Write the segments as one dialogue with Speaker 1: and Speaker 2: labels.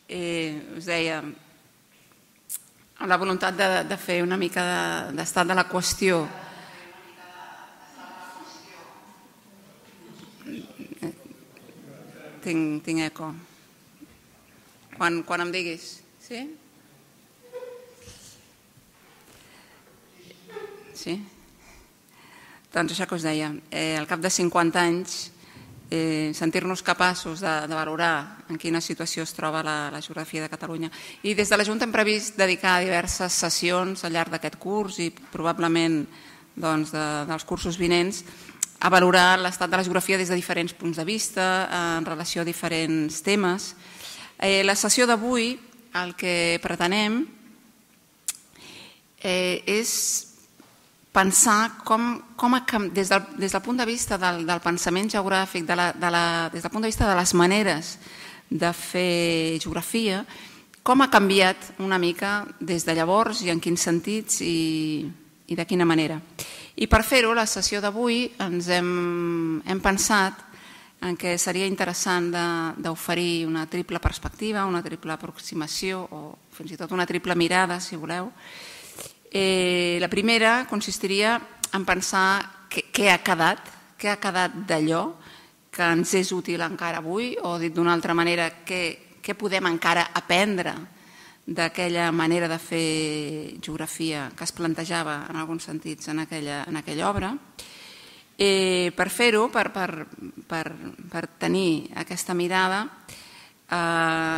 Speaker 1: us deia, amb la voluntat de fer una mica d'estat de la qüestió. Tinc eco. Quan em diguis. Sí? Sí? Doncs això que us deia, al cap de 50 anys, sentir-nos capaços de valorar en quina situació es troba la geografia de Catalunya. I des de la Junta hem previst dedicar diverses sessions al llarg d'aquest curs i probablement dels cursos vinents a valorar l'estat de la geografia des de diferents punts de vista, en relació a diferents temes. La sessió d'avui el que pretenem és pensar des del punt de vista del pensament geogràfic, des del punt de vista de les maneres de fer geografia, com ha canviat una mica des de llavors i en quins sentits i de quina manera. I per fer-ho, la sessió d'avui ens hem pensat en què seria interessant d'oferir una triple perspectiva, una triple aproximació o fins i tot una triple mirada, si voleu. La primera consistiria en pensar què ha quedat d'allò que ens és útil encara avui, o dit d'una altra manera, què podem encara aprendre d'aquella manera de fer geografia que es plantejava en alguns sentits en aquella obra. Per fer-ho, per tenir aquesta mirada,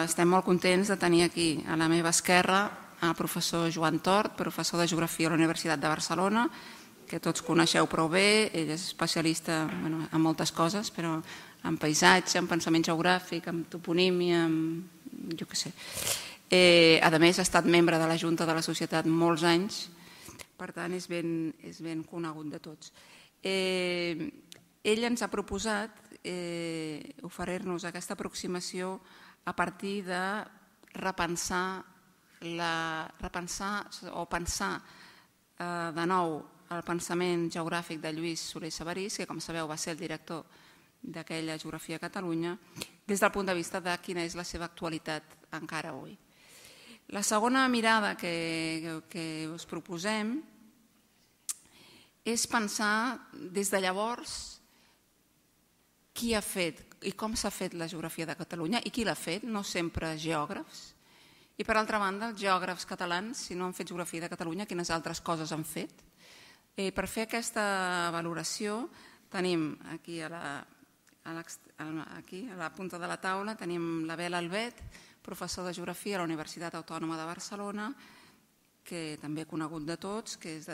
Speaker 1: estem molt contents de tenir aquí a la meva esquerra el professor Joan Tort, professor de Geografia a la Universitat de Barcelona, que tots coneixeu prou bé. Ell és especialista en moltes coses, però en paisatge, en pensament geogràfic, en toponímia, jo què sé. A més, ha estat membre de la Junta de la Societat molts anys, per tant és ben conegut de tots. Ell ens ha proposat oferir-nos aquesta aproximació a partir de repensar o pensar de nou el pensament geogràfic de Lluís Solé Sabarís, que com sabeu va ser el director d'aquella Geografia a Catalunya, des del punt de vista de quina és la seva actualitat encara avui. La segona mirada que us proposem és pensar des de llavors qui ha fet i com s'ha fet la geografia de Catalunya i qui l'ha fet, no sempre geògrafs. I per altra banda, els geògrafs catalans, si no han fet geografia de Catalunya, quines altres coses han fet? Per fer aquesta valoració tenim aquí a la punta de la taula tenim l'Abel Albet, professor de Geografia a la Universitat Autònoma de Barcelona, que també conegut de tots, que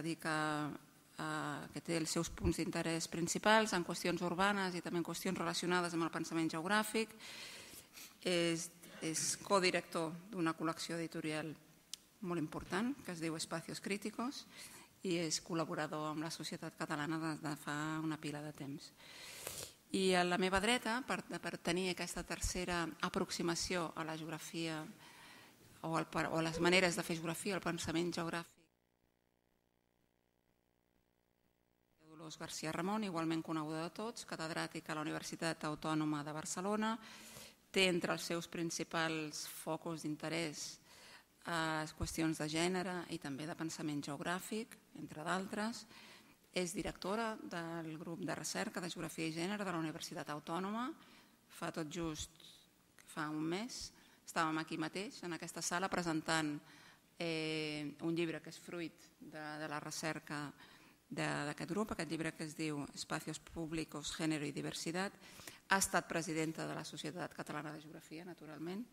Speaker 1: té els seus punts d'interès principals en qüestions urbanes i també en qüestions relacionades amb el pensament geogràfic. És codirector d'una col·lecció editorial molt important que es diu Espacios Críticos i és col·laborador amb la Societat Catalana des de fa una pila de temps. I a la meva dreta, per tenir aquesta tercera aproximació a la geografia o a les maneres de fer geografia, el pensament geogràfic, Dolors García Ramon, igualment coneguda de tots, catedràtica a la Universitat Autònoma de Barcelona, té entre els seus principals focus d'interès qüestions de gènere i també de pensament geogràfic, entre d'altres. És directora del grup de recerca de Geografia i Gènere de la Universitat Autònoma. Fa tot just un mes estàvem aquí mateix, en aquesta sala, presentant un llibre que és fruit de la recerca d'aquest grup, aquest llibre que es diu Espacios Públicos, Género y Diversidad. Ha estat presidenta de la Societat Catalana de Geografia, naturalment,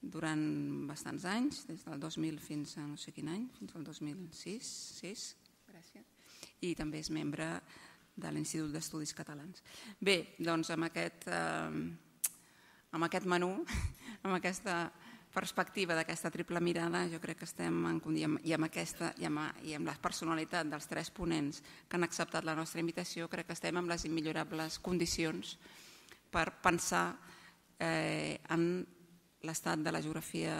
Speaker 1: durant bastants anys, des del 2000 fins a no sé quin any, fins al 2006, gràcies. I també és membre de l'Institut d'Estudis Catalans. Bé, doncs amb aquest menú, amb aquesta perspectiva d'aquesta triple mirada, jo crec que estem, i amb la personalitat dels tres ponents que han acceptat la nostra invitació, crec que estem en les immillorables condicions per pensar en l'estat de la geografia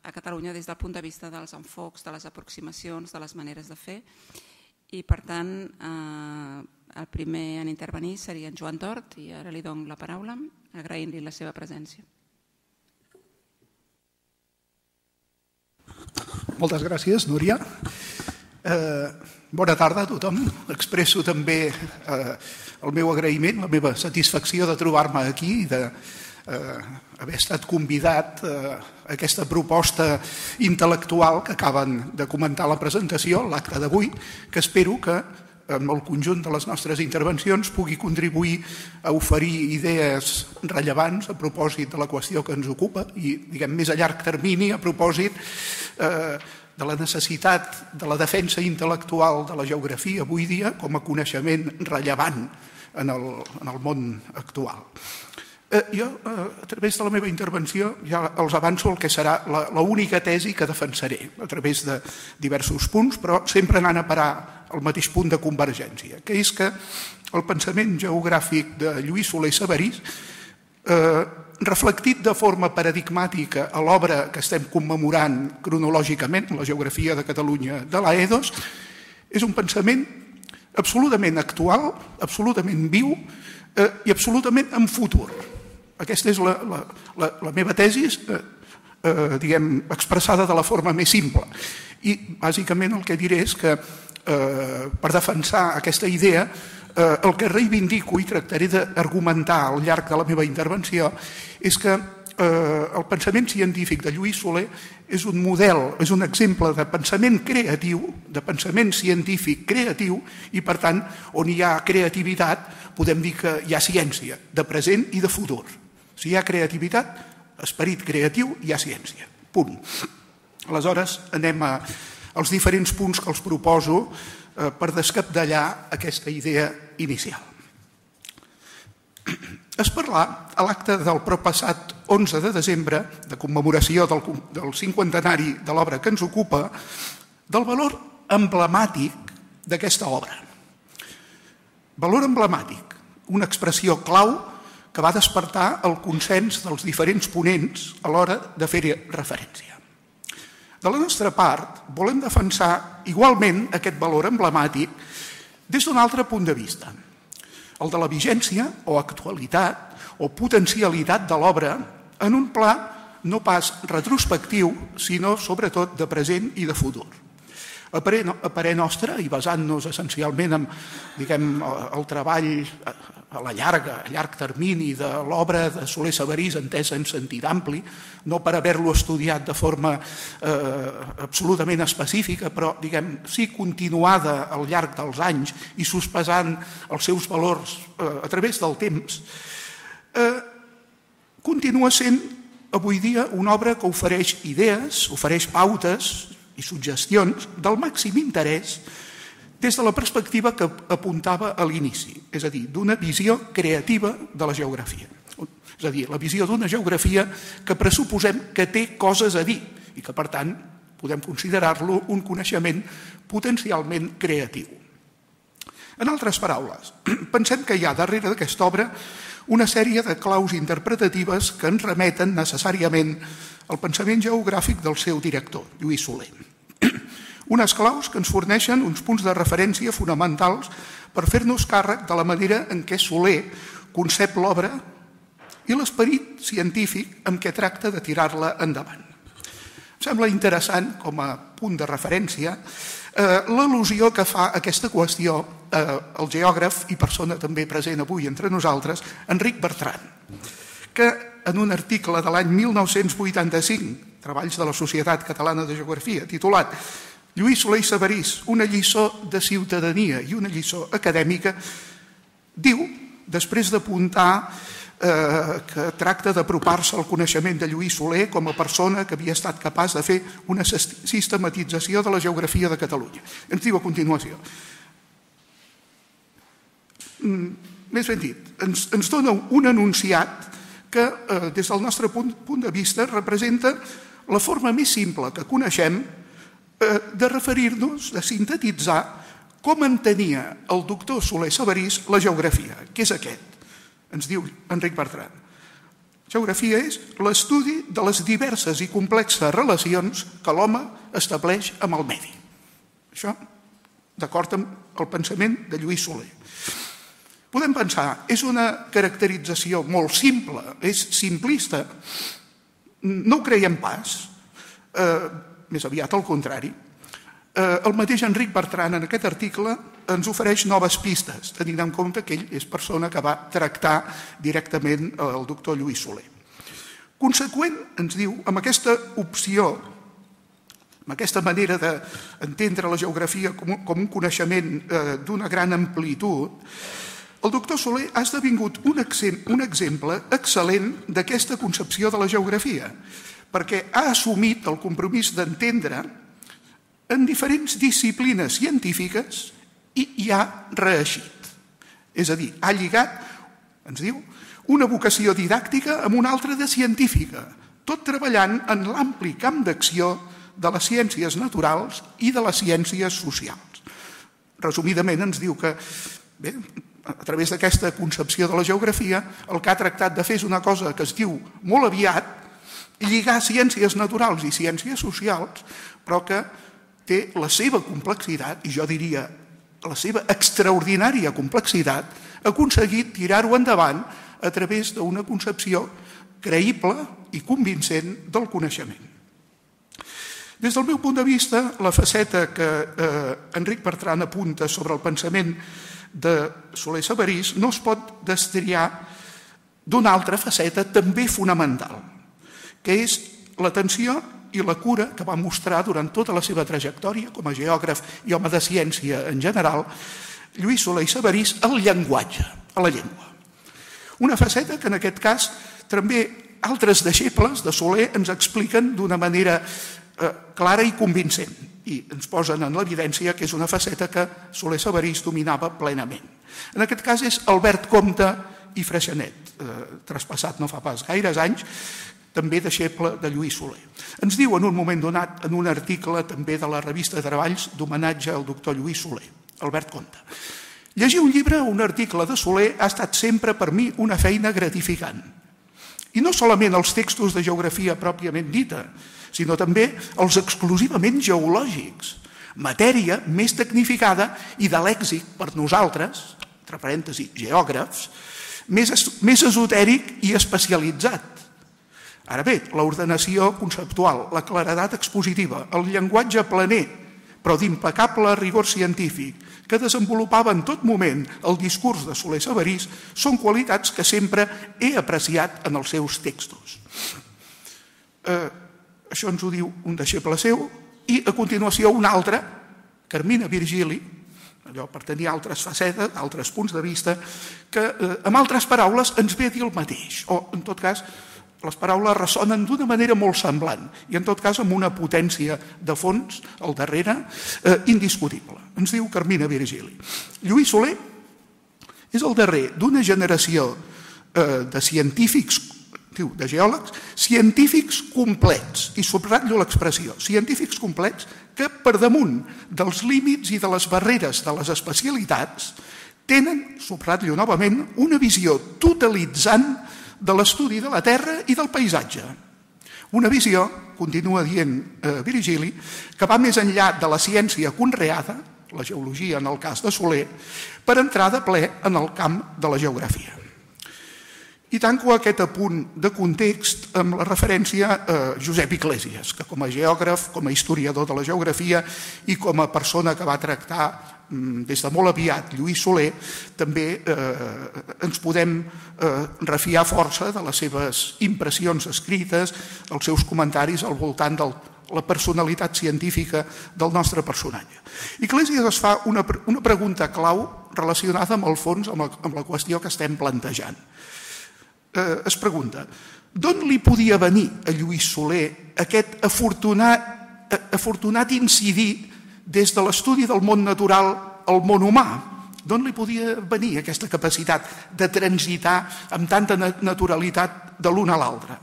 Speaker 1: a Catalunya des del punt de vista dels enfocs, de les aproximacions, de les maneres de fer. I, per tant, el primer en intervenir seria en Joan Tort, i ara li dono la paraula, agraint-li la seva presència.
Speaker 2: Moltes gràcies, Núria. Bona tarda a tothom. Expresso també el meu agraïment, la meva satisfacció de trobar-me aquí i d'haver estat convidat a aquesta proposta intel·lectual que acaben de comentar a la presentació, l'acte d'avui, que espero que amb el conjunt de les nostres intervencions pugui contribuir a oferir idees rellevants a propòsit de la qüestió que ens ocupa i, diguem, més a llarg termini, a propòsit de la necessitat de la defensa intel·lectual de la geografia avui dia com a coneixement rellevant en el món actual. Jo, a través de la meva intervenció, ja els avanço el que serà l'única tesi que defensaré, a través de diversos punts, però sempre anant a parar al mateix punt de convergència, que és que el pensament geogràfic de Lluís Solé i Sabarís, reflectit de forma paradigmàtica a l'obra que estem commemorant cronològicament, la geografia de Catalunya de l'Aedos, és un pensament absolutament actual, absolutament viu i absolutament en futur. Aquesta és la meva tesi, diguem, expressada de la forma més simple. I, bàsicament, el que diré és que, per defensar aquesta idea, el que reivindico i tractaré d'argumentar al llarg de la meva intervenció és que el pensament científic de Lluís Solé és un model, és un exemple de pensament creatiu, de pensament científic creatiu i, per tant, on hi ha creativitat, podem dir que hi ha ciència, de present i de futur. Si hi ha creativitat, esperit creatiu, hi ha ciència. Punt. Aleshores, anem als diferents punts que els proposo per descapdallar aquesta idea inicial. Es parlà a l'acte del proppassat 11 de desembre, de commemoració del 50enari de l'obra que ens ocupa, del valor emblemàtic d'aquesta obra. Valor emblemàtic, una expressió clau que va despertar el consens dels diferents ponents a l'hora de fer-hi referència. De la nostra part, volem defensar igualment aquest valor emblemàtic des d'un altre punt de vista, el de la vigència o actualitat o potencialitat de l'obra en un pla no pas retrospectiu, sinó sobretot de present i de futur. A parer nostre, i basant-nos essencialment en, diguem, el treball a llarg termini de l'obra de Solé Sabarís entesa en sentit ampli, no per haver-lo estudiat de forma absolutament específica, però, diguem, sí continuada al llarg dels anys i sospesant els seus valors a través del temps, continua sent avui dia una obra que ofereix idees, ofereix pautes i suggestions del màxim interès des de la perspectiva que apuntava a l'inici, és a dir, d'una visió creativa de la geografia. És a dir, la visió d'una geografia que pressuposem que té coses a dir i que, per tant, podem considerar-lo un coneixement potencialment creatiu. En altres paraules, pensem que hi ha darrere d'aquesta obra una sèrie de claus interpretatives que ens remeten necessàriament al pensament geogràfic del seu director, Lluís Solé. Unes claus que ens forneixen uns punts de referència fonamentals per fer-nos càrrec de la manera en què Solé concep l'obra i l'esperit científic amb què tracta de tirar-la endavant. Em sembla interessant, com a punt de referència, l'al·lusió que fa a aquesta qüestió el geògraf i persona també present avui entre nosaltres, Enric Bertran, que en un article de l'any 1985, Treballs de la Societat Catalana de Geografia, titulat Lluís Solé i Sabarís, una lliçó de ciutadania i una lliçó acadèmica, diu, després d'apuntar que tracta d'apropar-se al coneixement de Lluís Solé com a persona que havia estat capaç de fer una sistematització de la geografia de Catalunya. Ens diu a continuació. Més ben dit, ens dona un enunciat que, des del nostre punt de vista, representa la forma més simple que coneixem de referir-nos, de sintetitzar com entenia el doctor Solé Sabarís la geografia, que és aquest. Ens diu Enric Bertran. Geografia és l'estudi de les diverses i complexes relacions que l'home estableix amb el medi. Això, d'acord amb el pensament de Lluís Solé. Podem pensar, és una caracterització molt simple, és simplista. No ho creiem pas. més aviat al contrari. El mateix Enric Bertran en aquest article ens ofereix noves pistes, tenint en compte que ell és persona que va tractar directament el doctor Lluís Soler. Conseqüent, ens diu, amb aquesta opció, amb aquesta manera d'entendre la geografia com un coneixement d'una gran amplitud, el doctor Soler ha esdevingut un exemple excel·lent d'aquesta concepció de la geografia, perquè ha assumit el compromís d'entendre en diferents disciplines científiques i hi ha reeixit. És a dir, ha lligat, ens diu, una vocació didàctica amb una altra de científica, tot treballant en l'ampli camp d'acció de les ciències naturals i de les ciències socials. Resumidament ens diu que, bé, a través d'aquesta concepció de la geografia, el que ha tractat de fer és una cosa que es diu molt aviat, lligar ciències naturals i ciències socials, però que té la seva complexitat, i jo diria la seva extraordinària complexitat, ha aconseguit tirar-ho endavant a través d'una concepció creïble i convincent del coneixement. Des del meu punt de vista, la faceta que Enric Bertran apunta sobre el pensament de Soler Sabarís no es pot destriar d'una altra faceta també fonamental, que és l'atenció i la cura que va mostrar durant tota la seva trajectòria com a geògraf i home de ciència en general, Lluís Soler i Sabarís, al llenguatge, a la llengua. Una faceta que en aquest cas també altres deixebles de Soler ens expliquen d'una manera clara i convincent i ens posen en l'evidència que és una faceta que Soler Sabarís dominava plenament. En aquest cas és Albert Comte i Freixanet, traspassat no fa pas gaires anys, també deixeble de Lluís Soler. Ens diu en un moment donat, en un article també de la revista de Treballs d'homenatge al doctor Lluís Soler, Albert Comte. Llegir un llibre o un article de Soler ha estat sempre per mi una feina gratificant. I no solament els textos de geografia pròpiament dita, sinó també els exclusivament geològics, matèria més tecnificada i de lèxic per nosaltres, entre parèntesis, geògrafs, més esotèric i especialitzat. Ara bé, l'ordenació conceptual, la claredat expositiva, el llenguatge planer, però d'impecable rigor científic, que desenvolupava en tot moment el discurs de Soler Sabarís, són qualitats que sempre he apreciat en els seus textos. Això ens ho diu un deixeble seu, i a continuació un altre, Carmina Virgili, allò per tenir altres facetes, altres punts de vista, que amb altres paraules ens ve a dir el mateix, o en tot cas les paraules ressonen d'una manera molt semblant i en tot cas amb una potència de fons al darrere indiscutible. Ens diu Carmina Virgili. Lluís Soler és el darrer d'una generació de científics, de geòlegs, científics complets, i subratllo l'expressió, científics complets que per damunt dels límits i de les barreres de les especialitats tenen, subratllo novament, una visió totalitzant de l'estudi de la Terra i del paisatge. Una visió, continua dient Virgili, que va més enllà de la ciència conreada, la geologia en el cas de Soler, per entrar de ple en el camp de la geografia. I tanco aquest apunt de context amb la referència a Josep Iglesias, que com a geògraf, com a historiador de la geografia i com a persona que va tractar des de molt aviat Lluís Soler, també ens podem refiar força de les seves impressions escrites, els seus comentaris al voltant de la personalitat científica del nostre personatge. Iglesias es fa una pregunta clau relacionada amb el fons, amb la qüestió que estem plantejant. Es pregunta, d'on li podia venir a Lluís Soler aquest afortunat incidir des de l'estudi del món natural al món humà? D'on li podia venir aquesta capacitat de transitar amb tanta naturalitat de l'un a l'altre?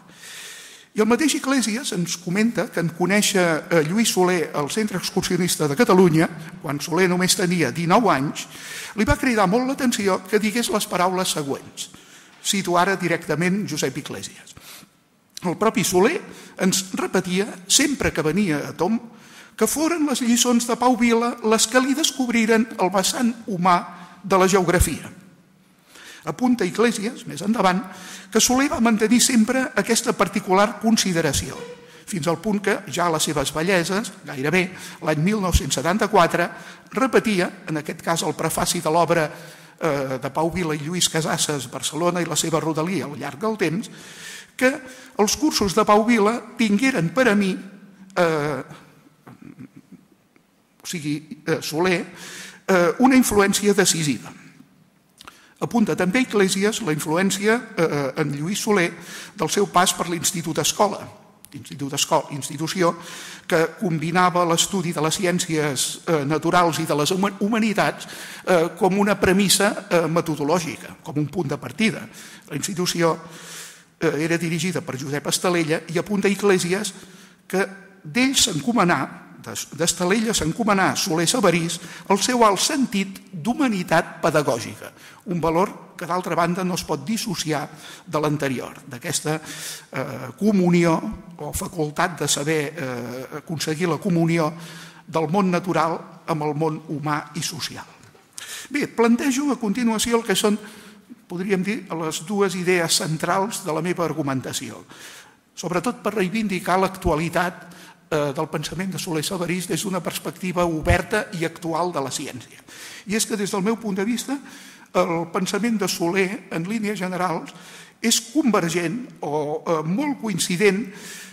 Speaker 2: I el mateix Iglesias ens comenta que en conèixer Lluís Soler al Centre Excursionista de Catalunya, quan Soler només tenia 19 anys, li va cridar molt l'atenció que digués les paraules següents. Cito ara directament Josep Iglesias. El propi Soler ens repetia, sempre que venia a Tom, que foren les lliçons de Pau Vila les que li descobriren el vessant humà de la geografia. Apunta Iglesias, més endavant, que Soler va mantenir sempre aquesta particular consideració. fins al punt que ja a les seves velleses, gairebé l'any 1974, repetia, en aquest cas el prefaci de l'obra de Pau Vila i Lluís Casasses, Barcelona i la seva rodalia al llarg del temps, que els cursos de Pau Vila tingueren per a mi, o sigui, Soler, una influència decisiva. Apunta també Iglesias la influència en Lluís Soler del seu pas per l'Institut Escola, institució que combinava l'estudi de les ciències naturals i de les humanitats com una premissa metodològica, com un punt de partida. La institució era dirigida per Josep Estalella i apunta Iglesias que d'ell s'encomanà, d'Estalella s'encomanà Soler Sabarís el seu alt sentit d'humanitat pedagògica, un valor que d'altra banda no es pot dissociar de l'anterior, d'aquesta comunió o facultat de saber aconseguir la comunió del món natural amb el món humà i social. Bé, plantejo a continuació el que són, podríem dir, les dues idees centrals de la meva argumentació, sobretot per reivindicar l'actualitat del pensament de Soler Sabarís des d'una perspectiva oberta i actual de la ciència. I és que des del meu punt de vista el pensament de Soler en línies generals és convergent o molt coincident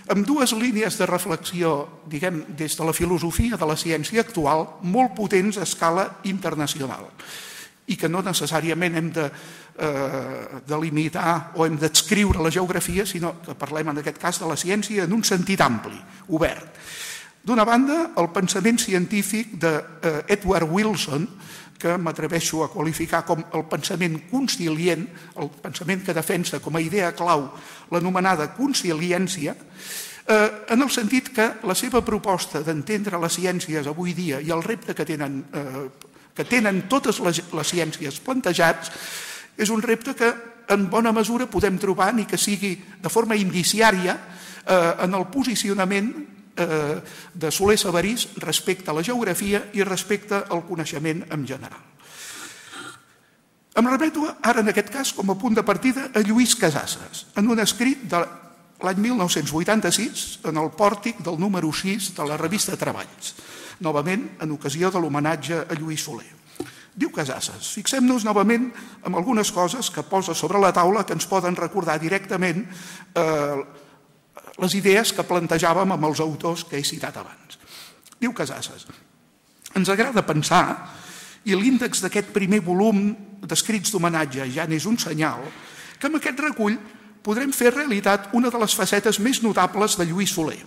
Speaker 2: amb dues línies de reflexió, diguem, des de la filosofia de la ciència actual molt potents a escala internacional i que no necessàriament hem de delimitar o hem d'adscriure la geografia, sinó que parlem en aquest cas de la ciència en un sentit ampli, obert. D'una banda, el pensament científic d'Edward Wilson, que m'atreveixo a qualificar com el pensament concilient, el pensament que defensa com a idea clau l'anomenada conciliència, en el sentit que la seva proposta d'entendre les ciències avui dia i el repte que tenen totes les ciències plantejats és un repte que en bona mesura podem trobar, ni que sigui de forma indiciària, en el posicionament de Soler Sabarís respecte a la geografia i respecte al coneixement en general. Em remeto ara, en aquest cas, com a punt de partida, a Lluís Casasses, en un escrit de l'any 1986, en el pòrtic del número 6 de la revista Treballs, novament en ocasió de l'homenatge a Lluís Soler. Diu Casasses, fixem-nos novament en algunes coses que posa sobre la taula que ens poden recordar directament les idees que plantejàvem amb els autors que he citat abans. Diu Casasses, ens agrada pensar, i l'índex d'aquest primer volum d'escrits d'homenatge ja n'és un senyal, que amb aquest recull podrem fer realitat una de les facetes més notables de Lluís Soler,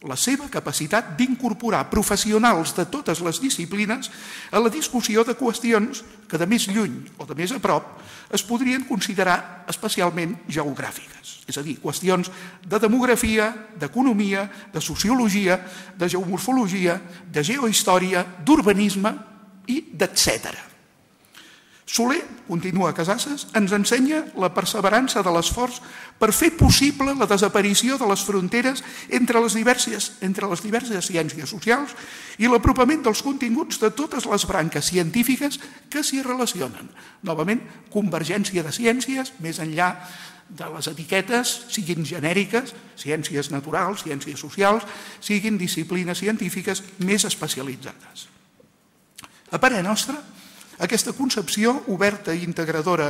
Speaker 2: la seva capacitat d'incorporar professionals de totes les disciplines a la discussió de qüestions que de més lluny o de més a prop es podrien considerar especialment geogràfiques, és a dir, qüestions de demografia, d'economia, de sociologia, de geomorfologia, de geohistòria, d'urbanisme i d'etcètera. Soler, continua Casasses, ens ensenya la perseverança de l'esforç per fer possible la desaparició de les fronteres entre les diverses ciències socials i l'apropament dels continguts de totes les branques científiques que s'hi relacionen. Novament, convergència de ciències, més enllà de les etiquetes, siguin genèriques, ciències naturals, ciències socials, siguin disciplines científiques més especialitzades. A parer nostre, aquesta concepció oberta i integradora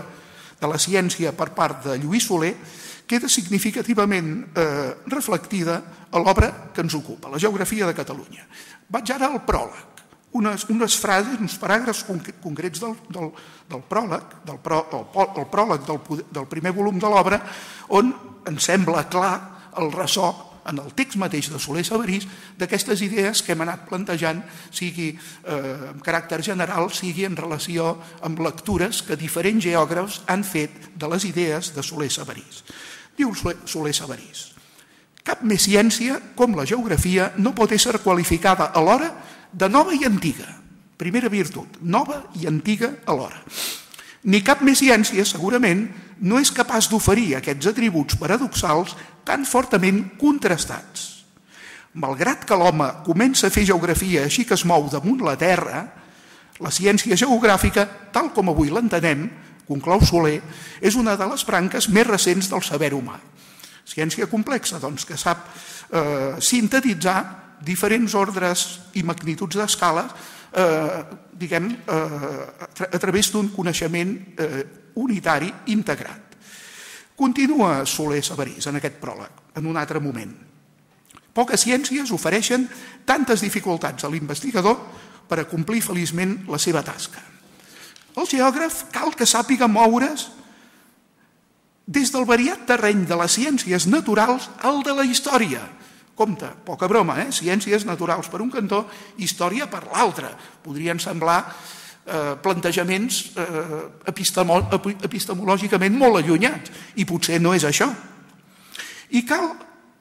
Speaker 2: de la ciència per part de Lluís Soler queda significativament reflectida a l'obra que ens ocupa, la geografia de Catalunya. Vaig ara al pròleg, unes frases, uns paràgrafs concrets del pròleg, el pròleg del primer volum de l'obra, on ens sembla clar el ressò en el text mateix de Soler Sabarís d'aquestes idees que hem anat plantejant, sigui amb caràcter general, sigui en relació amb lectures que diferents geògrafs han fet de les idees de Soler Sabarís. Diu Soler Sabarís, cap més ciència com la geografia no pot ésser qualificada alhora de nova i antiga. Primera virtut, nova i antiga alhora. Ni cap més ciència, segurament, no és capaç d'oferir aquests atributs paradoxals tan fortament contrastats. Malgrat que l'home comença a fer geografia així que es mou damunt la Terra, la ciència geogràfica, tal com avui l'entenem, conclou Soler, és una de les branques més recents del saber humà. Ciència complexa, doncs, que sap sintetitzar diferents ordres i magnituds d'escala diguem, a través d'un coneixement unitari integrat. Continua Soler Sabarís en aquest pròleg, en un altre moment. Poques ciències ofereixen tantes dificultats a l'investigador per a complir feliçment la seva tasca. El geògraf cal que sàpiga moure's des del variat terreny de les ciències naturals al de la història. Compte, poca broma, ciències naturals per un cantó, història per l'altre. Podrien semblar plantejaments epistemològicament molt allunyats, i potser no és això. I cal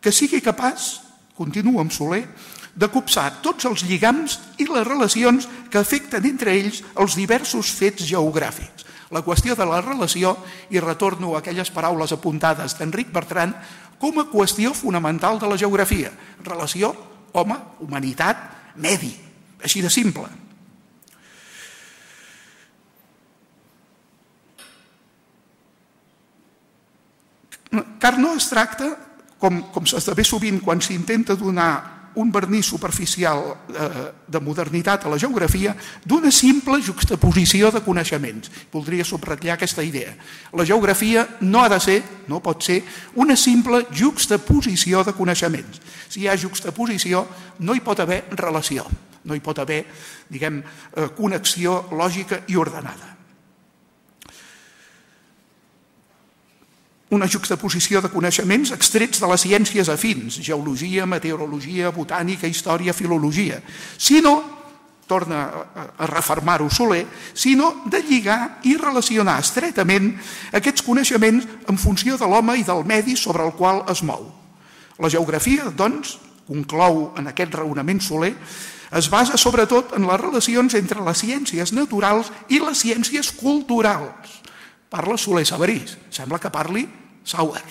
Speaker 2: que sigui capaç, continua amb Soler, de copsar tots els lligams i les relacions que afecten entre ells els diversos fets geogràfics. La qüestió de la relació, i retorno a aquelles paraules apuntades d'Enric Bertran, com a qüestió fonamental de la geografia. Relació, home, humanitat, medi, així de simple. Car no es tracta, com s'esdevé sovint quan s'intenta donar un vernís superficial de modernitat a la geografia, d'una simple juxtaposició de coneixements. Voldria subratllar aquesta idea. La geografia no ha de ser, no pot ser, una simple juxtaposició de coneixements. Si hi ha juxtaposició, no hi pot haver relació, no hi pot haver, diguem, connexió lògica i ordenada. Una juxtaposició de coneixements extrets de les ciències afins, geologia, meteorologia, botànica, història, filologia, sinó, torna a refermar-ho Soler, sinó de lligar i relacionar estretament aquests coneixements en funció de l'home i del medi sobre el qual es mou. La geografia, doncs, conclou en aquest raonament Soler, es basa sobretot en les relacions entre les ciències naturals i les ciències culturals. Parla Soler Sabarís, sembla que parli Sauer.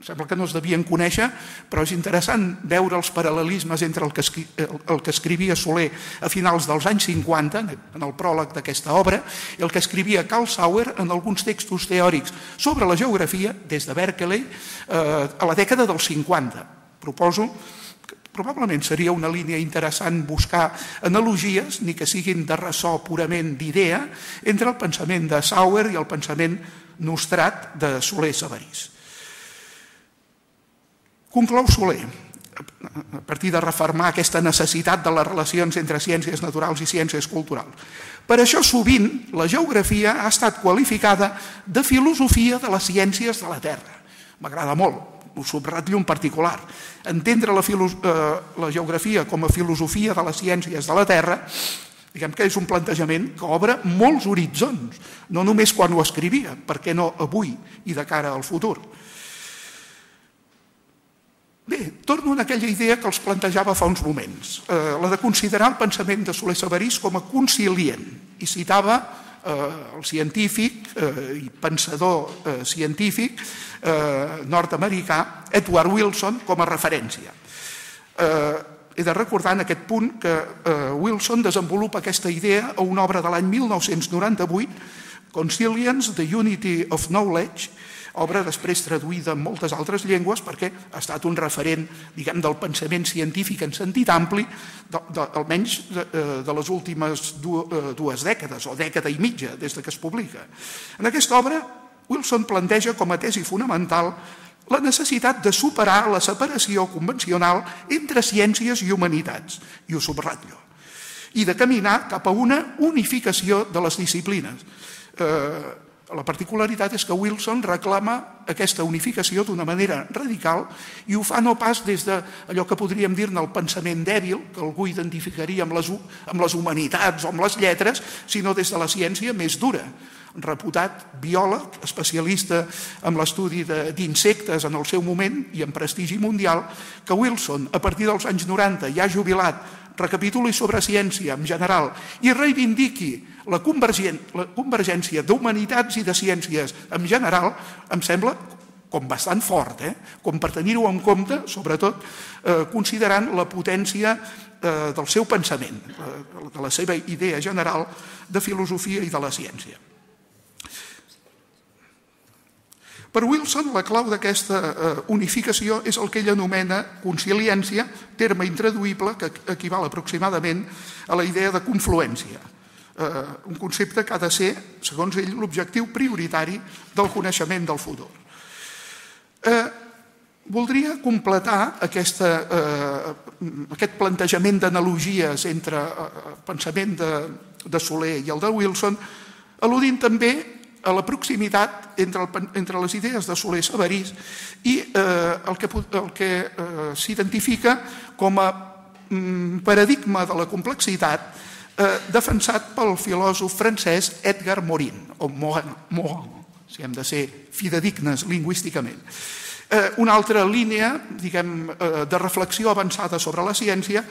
Speaker 2: Sembla que no es devien conèixer, però és interessant veure els paral·lelismes entre el que escrivia Soler a finals dels anys 50, en el pròleg d'aquesta obra, i el que escrivia Carl Sauer en alguns textos teòrics sobre la geografia, des de Berkeley, a la dècada dels 50. Proposo probablement seria una línia interessant buscar analogies, ni que siguin de ressò purament d'idea, entre el pensament de Sauer i el pensament nostrat de Soler Sabarís. Conclou Soler, a partir de refermar aquesta necessitat de les relacions entre ciències naturals i ciències culturals. Per això sovint la geografia ha estat qualificada de filosofia de les ciències de la Terra. M'agrada molt, ho subratllo en particular. Entendre la geografia com a filosofia de les ciències de la Terra, diguem que és un plantejament que obre molts horitzons, no només quan ho escrivia, per què no avui i de cara al futur. Bé, torno a aquella idea que els plantejava fa uns moments, la de considerar el pensament de Soler Sabarís com a concilient, i citava el científic i pensador científic nord-americà Edward Wilson com a referència. He de recordar en aquest punt que Wilson desenvolupa aquesta idea a una obra de l'any 1998, Consilience, The Unity of Knowledge, obra després traduïda en moltes altres llengües perquè ha estat un referent, diguem, del pensament científic en sentit ampli, almenys de les últimes dues dècades, o dècada i mitja, des que es publica. En aquesta obra, Wilson planteja com a tesi fonamental la necessitat de superar la separació convencional entre ciències i humanitats, i ho subratllo, i de caminar cap a una unificació de les disciplines. La particularitat és que Wilson reclama aquesta unificació d'una manera radical i ho fa no pas des d'allò que podríem dir-ne el pensament dèbil, que algú identificaria amb les humanitats o amb les lletres, sinó des de la ciència més dura. Reputat biòleg, especialista en l'estudi d'insectes en el seu moment i en prestigi mundial, que Wilson, a partir dels anys 90, ja jubilat, recapituli sobre ciència en general i reivindiqui la convergència d'humanitats i de ciències en general, em sembla com bastant fort, com per tenir-ho en compte, sobretot considerant la potència del seu pensament, de la seva idea general de filosofia i de la ciència. Per Wilson, la clau d'aquesta unificació és el que ell anomena consiliència, terme intraduïble que equival aproximadament a la idea de confluència, un concepte que ha de ser, segons ell, l'objectiu prioritari del coneixement del futur. Voldria completar aquest plantejament d'analogies entre el pensament de Soler i el de Wilson, al·ludint també a la proximitat entre les idees de Soler i Sabarís i el que s'identifica com a paradigma de la complexitat defensat pel filòsof francès Edgar Morin, o Morin, si hem de ser fidedignes lingüísticament. Una altra línia, diguem, de reflexió avançada sobre la ciència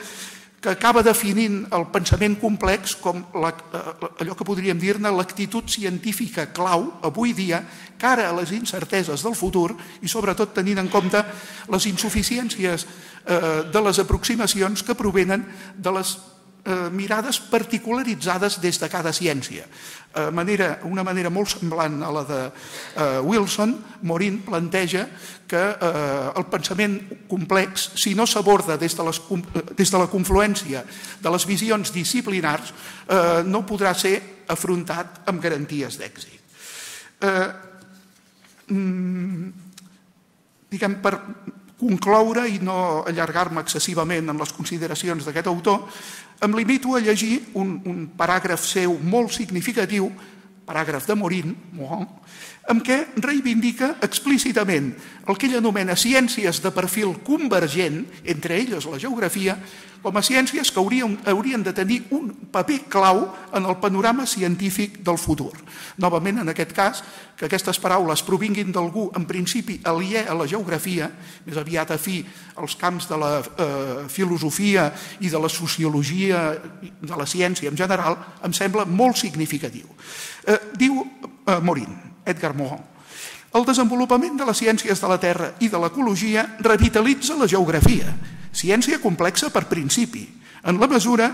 Speaker 2: que acaba definint el pensament complex com allò que podríem dir-ne l'actitud científica clau avui dia cara a les incerteses del futur i sobretot tenint en compte les insuficiències de les aproximacions que provenen de les mirades particularitzades des de cada ciència. Una manera molt semblant a la de Wilson, Morin planteja que el pensament complex, si no s'aborda des de la confluència de les visions disciplinars, no podrà ser afrontat amb garanties d'èxit. Diguem, per concloure i no allargar-me excessivament en les consideracions d'aquest autor, em limito a llegir un paràgraf seu molt significatiu, paràgraf de Morin, amb què reivindica explícitament el que ell anomena ciències de perfil convergent, entre elles la geografia, com a ciències que haurien de tenir un paper clau en el panorama científic del futur. Novament, en aquest cas, que aquestes paraules provinguin d'algú en principi aliè a la geografia, més aviat afí als camps de la filosofia i de la sociologia, de la ciència en general, em sembla molt significatiu. Diu Morin, Edgar Morin, el desenvolupament de les ciències de la Terra i de l'ecologia revitalitza la geografia, ciència complexa per principi, en la mesura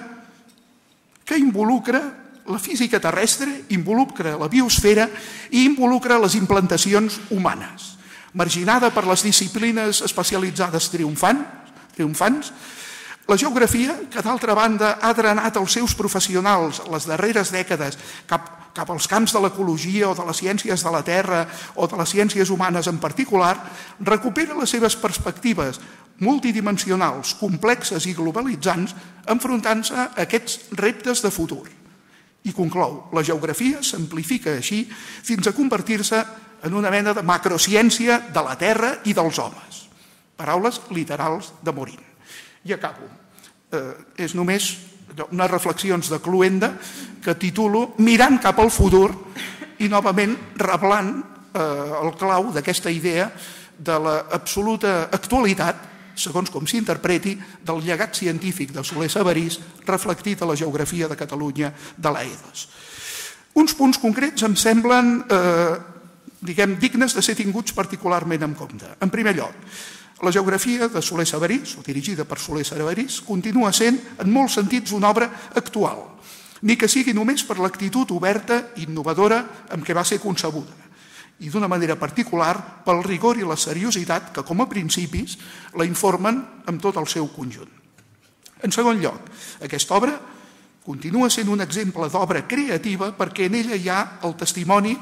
Speaker 2: que involucra la física terrestre, involucra la biosfera i involucra les implantacions humanes. Marginada per les disciplines especialitzades triomfants, la geografia, que d'altra banda ha drenat els seus professionals les darreres dècades cap als camps de l'ecologia o de les ciències de la Terra o de les ciències humanes en particular, recupera les seves perspectives multidimensionals, complexes i globalitzants, enfrontant-se a aquests reptes de futur. I conclou, la geografia s'amplifica així fins a convertir-se en una mena de macrociència de la Terra i dels homes. Paraules literals de Morin. I acabo. És només unes reflexions de Cluenda que titulo Mirant cap al futur i novament reblant el clau d'aquesta idea de l'absoluta actualitat, segons com s'interpreti, del llegat científic de Soler Sabarís reflectit a la geografia de Catalunya de l'Aedos. Uns punts concrets em semblen, dignes de ser tinguts particularment en compte. En primer lloc, la geografia de Soler Sabarís, o dirigida per Soler Sabarís, continua sent, en molts sentits, una obra actual, ni que sigui només per l'actitud oberta i innovadora amb què va ser concebuda, i d'una manera particular pel rigor i la seriositat que, com a principis, la informen amb tot el seu conjunt. En segon lloc, aquesta obra continua sent un exemple d'obra creativa perquè en ella hi ha el testimoni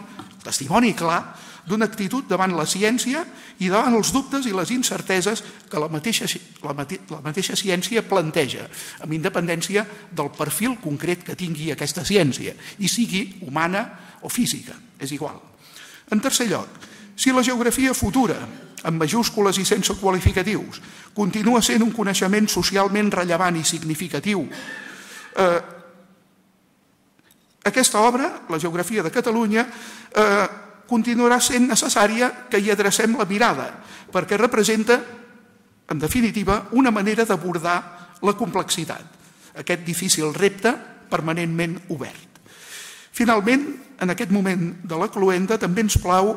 Speaker 2: clar d'una actitud davant la ciència i davant els dubtes i les incerteses que la mateixa ciència planteja, amb independència del perfil concret que tingui aquesta ciència, i sigui humana o física, és igual. En tercer lloc, si la geografia futura, amb majúscules i sense qualificatius, continua sent un coneixement socialment rellevant i significatiu, aquesta obra, la geografia de Catalunya, continuarà sent necessària que hi adrecem la mirada, perquè representa, en definitiva, una manera d'abordar la complexitat, aquest difícil repte permanentment obert. Finalment, en aquest moment de la cloenda, també ens plau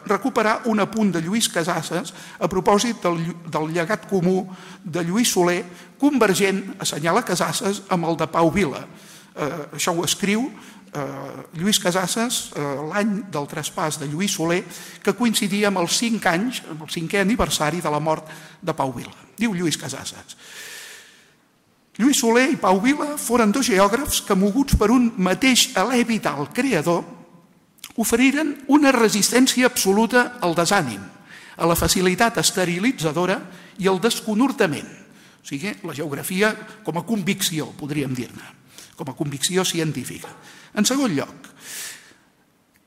Speaker 2: recuperar un apunt de Lluís Casases a propòsit del llegat comú de Lluís Soler, convergent, assenyala Casases, amb el de Pau Vila. Això ho escriu Lluís Casassas l'any del traspàs de Lluís Soler, que coincidia amb els 5 anys, amb el 5è aniversari de la mort de Pau Vila. Diu Lluís Casassas: Lluís Soler i Pau Vila foren 2 geògrafs que, moguts per un mateix alè vital creador, oferiren una resistència absoluta al desànim, a la facilitat esterilitzadora i al desconhortament. O sigui, la geografia com a convicció, podríem dir-ne, com a convicció científica. En segon lloc,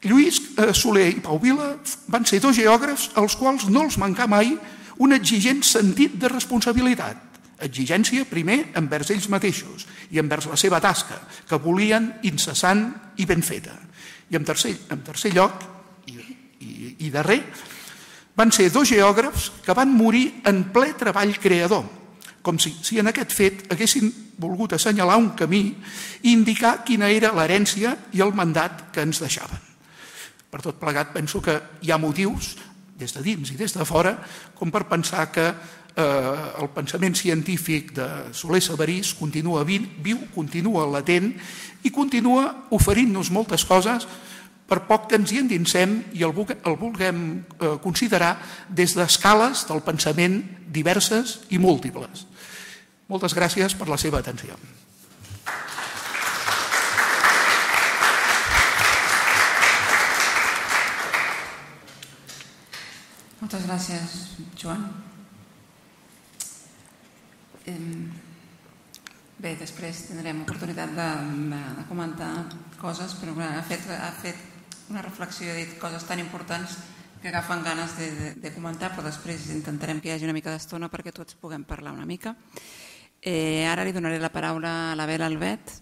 Speaker 2: Lluís Soler i Pau Vila van ser 2 geògrafs als quals no els mancà mai un exigent sentit de responsabilitat. Exigència, primer, envers ells mateixos i envers la seva tasca, que volien incessant i ben feta. I en tercer lloc, i darrer, van ser 2 geògrafs que van morir en ple treball creador, com si en aquest fet haguessin volgut assenyalar un camí i indicar quina era l'herència i el mandat que ens deixaven. Per tot plegat, penso que hi ha motius, des de dins i des de fora, com per pensar que el pensament científic de Soler Sabarís continua viu, continua latent i continua oferint-nos moltes coses, per poc que ens hi endinsem i el vulguem considerar des d'escales del pensament diverses i múltiples. Moltes gràcies per la seva atenció.
Speaker 1: Moltes gràcies, Joan. Bé, després tindrem oportunitat de comentar coses, però ha fet una reflexió, ha dit coses tan importants que agafen ganes de comentar, però després intentarem que hi hagi una mica d'estona perquè tots puguem parlar una mica. Ara li donaré la paraula a la Bela Albet,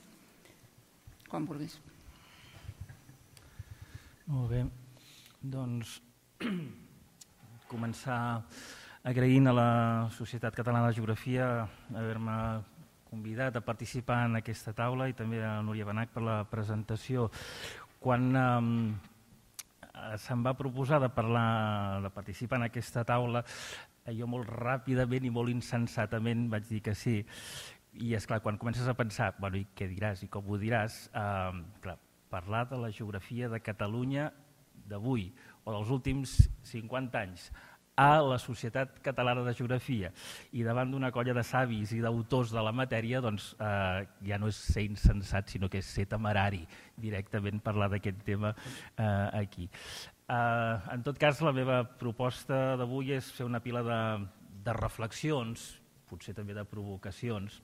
Speaker 1: quan vulguis.
Speaker 3: Molt bé, doncs començar agraint a la Societat Catalana de Geografia haver-me convidat a participar en aquesta taula i també a Núria Benach per la presentació. Quan se'm va proposar de participar en aquesta taula, jo molt ràpidament i molt insensatament vaig dir que sí. I esclar, quan comences a pensar, bueno, i què diràs i com ho diràs, clar, parlar de la geografia de Catalunya d'avui o dels últims 50 anys a la Societat Catalana de Geografia i davant d'una colla de savis i d'autors de la matèria, doncs ja no és ser insensat, sinó que és ser temerari directament parlar d'aquest tema aquí. En tot cas, la meva proposta d'avui és fer una pila de reflexions, potser també de provocacions,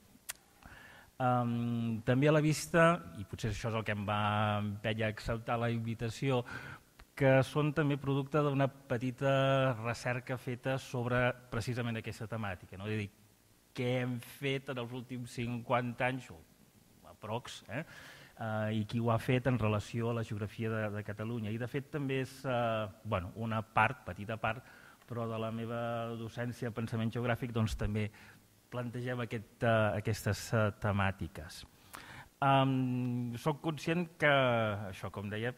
Speaker 3: també a la vista, i potser això és el que em va empènyer a acceptar la invitació, que són també producte d'una petita recerca feta sobre precisament aquesta temàtica. És a dir, què hem fet en els últims 50 anys, o aprox, i qui ho ha fet en relació a la geografia de Catalunya. I de fet també és una part, petita part, però de la meva docència de pensament geogràfic doncs també plantegem aquestes temàtiques. Soc conscient que, això com deia,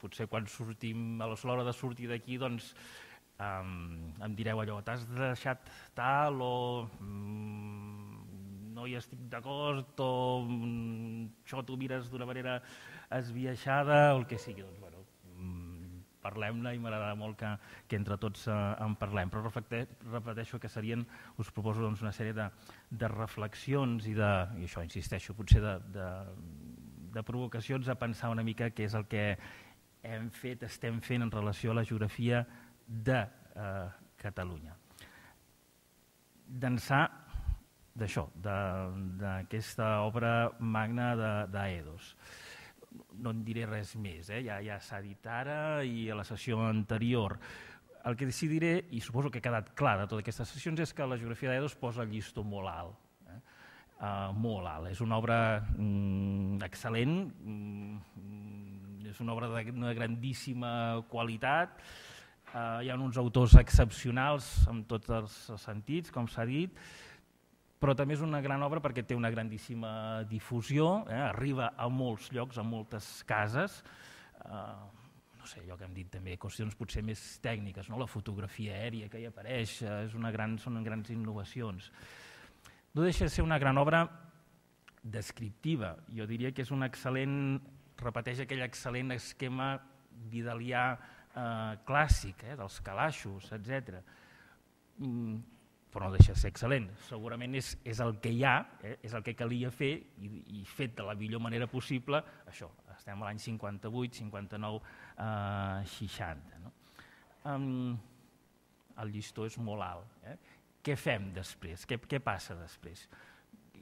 Speaker 3: potser quan sortim, a l'hora de sortir d'aquí, doncs em direu allò, t'has deixat tal o no hi estic d'acord o això t'ho mires d'una manera esbiaixada o el que sigui. Doncs, bueno, parlem-ne i m'agradarà molt que entre tots en parlem. Però repeteixo que us proposo una sèrie de reflexions i això, insisteixo, potser de provocacions a pensar una mica què és el que estem fent en relació a la geografia de Catalunya. D'ençà d'això, d'aquesta obra magna d'Aedos. No en diré res més, ja s'ha dit ara i a la sessió anterior. El que sí diré, i suposo que ha quedat clar de totes aquestes sessions, és que la geografia d'Aedos posa el llistó molt alt. Molt alt. És una obra excel·lent, és una obra d'una grandíssima qualitat, hi ha uns autors excepcionals en tots els sentits, com s'ha dit, però també és una gran obra perquè té una grandíssima difusió, arriba a molts llocs, a moltes cases, no sé, allò que hem dit també, qüestions potser més tècniques, la fotografia aèria que hi apareix, són grans innovacions. No deixa de ser una gran obra descriptiva, jo diria que és una excel·lent repeteix aquell excel·lent esquema vidalià clàssic, dels calaixos, etc. Però no deixa de ser excel·lent. Segurament és el que hi ha, és el que calia fer i fet de la millor manera possible. Això, estem a l'any 58, 59, 60. No? El llistó és molt alt. Què fem després? Què passa després?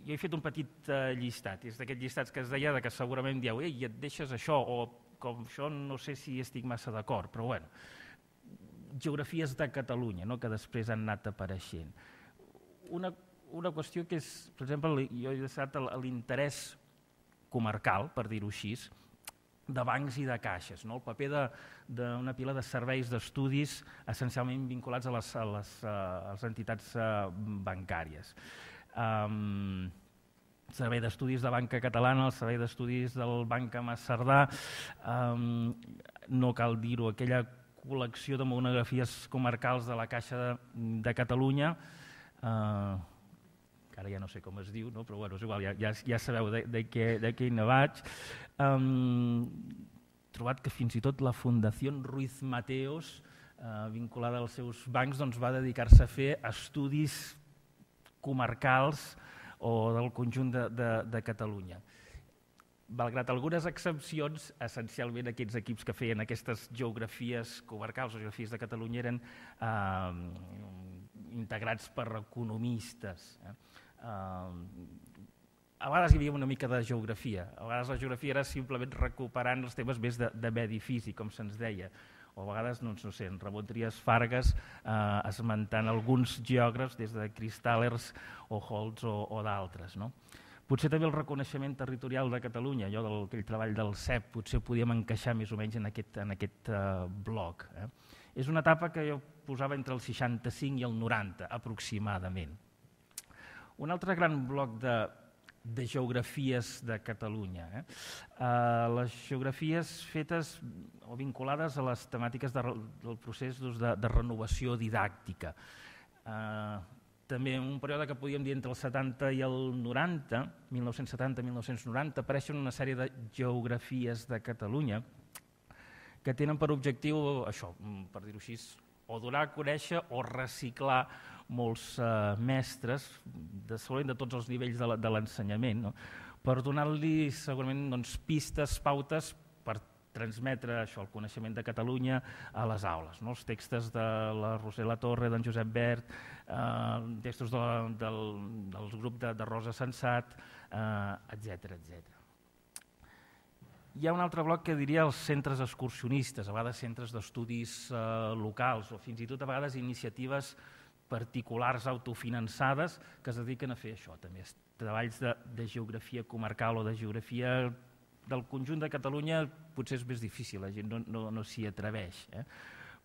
Speaker 3: Jo he fet un petit llistat, és d'aquests llistats que es deia que segurament dieu i et deixes això, o com això no sé si estic massa d'acord, però bueno, geografies de Catalunya, que després han anat apareixent. Una qüestió que és, per exemple, jo he deixat l'interès comarcal, per dir-ho així, de bancs i de caixes, el paper d'una pila de serveis d'estudis essencialment vinculats a les entitats bancàries. El servei d'estudis de Banca Catalana, el servei d'estudis del Banc Cerdà, no cal dir-ho, aquella col·lecció de monografies comarcals de la Caixa de Catalunya, que ara ja no sé com es diu, però bueno, és igual, ja sabeu de què hi vaig. He trobat que fins i tot la Fundació Ruiz Mateos, vinculada als seus bancs, va dedicar-se a fer estudis comarcals o del conjunt de Catalunya. Malgrat algunes excepcions, essencialment aquests equips que feien aquestes geografies comarcals o geografies de Catalunya eren integrats per economistes. A vegades hi havia una mica de geografia, a vegades la geografia era simplement recuperant els temes més de medi físic, com se'ns deia, o a vegades, no sé, en Ramon Trias Fargas esmentant alguns geògrafs des de Kristallers o Holtz o d'altres. Potser també el reconeixement territorial de Catalunya, allò d'aquell treball del CEP, potser podíem encaixar més o menys en aquest bloc. És una etapa que jo posava entre el 65 i el 90, aproximadament. Un altre gran bloc de geografies de Catalunya. Les geografies fetes o vinculades a les temàtiques del procés de renovació didàctica. També en un període que podíem dir entre el 70 i el 90, 1970-1990, apareixen una sèrie de geografies de Catalunya que tenen per objectiu, això, per dir-ho així, o donar a conèixer o reciclar molts mestres, segurament de tots els nivells de l'ensenyament, per donar-li segurament pistes, pautes per transmetre el coneixement de Catalunya a les aules. Els textos de la Roser Latorre, d'en Josep Bert, textos del grup de Rosa Sensat, etc. Hi ha un altre bloc que diria els centres excursionistes, a vegades centres d'estudis locals o fins i tot a vegades iniciatives particulars autofinançades que es dediquen a fer això, també treballs de geografia comarcal o de geografia del conjunt de Catalunya potser és més difícil, la gent no s'hi atreveix.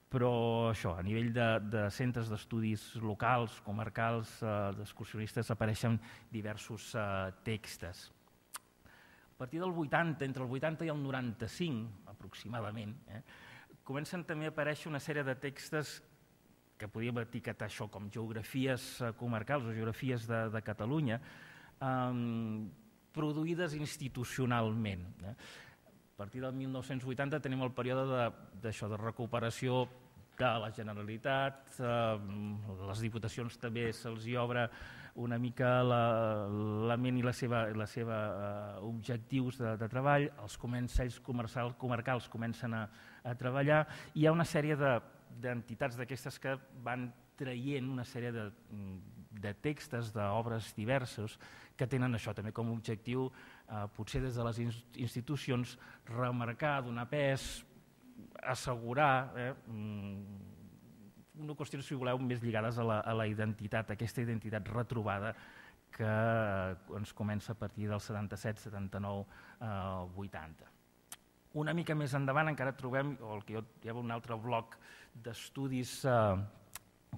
Speaker 3: Però això, a nivell de centres d'estudis locals, comarcals, d'excursionistes, apareixen diversos textos. A partir del 80, entre el 80 i el 95, aproximadament, comencen també a aparèixer una sèrie de textos que podríem etiquetar això com geografies comarcals o geografies de Catalunya, produïdes institucionalment. A partir del 1980 tenim el període de recuperació de la Generalitat, les diputacions també se'ls obre una mica la ment i la seva objectius de treball, els consells comarcals comencen a treballar, i hi ha una sèrie d'entitats d'aquestes que van traient una sèrie de textos, d'obres diversos, que tenen això també com a objectiu, potser des de les institucions, remarcar, donar pes, assegurar, una qüestió, si voleu, més lligades a la identitat, aquesta identitat retrobada que ens comença a partir del 77, 79, 80. Una mica més endavant encara trobem, hi ha un altre bloc d'estudis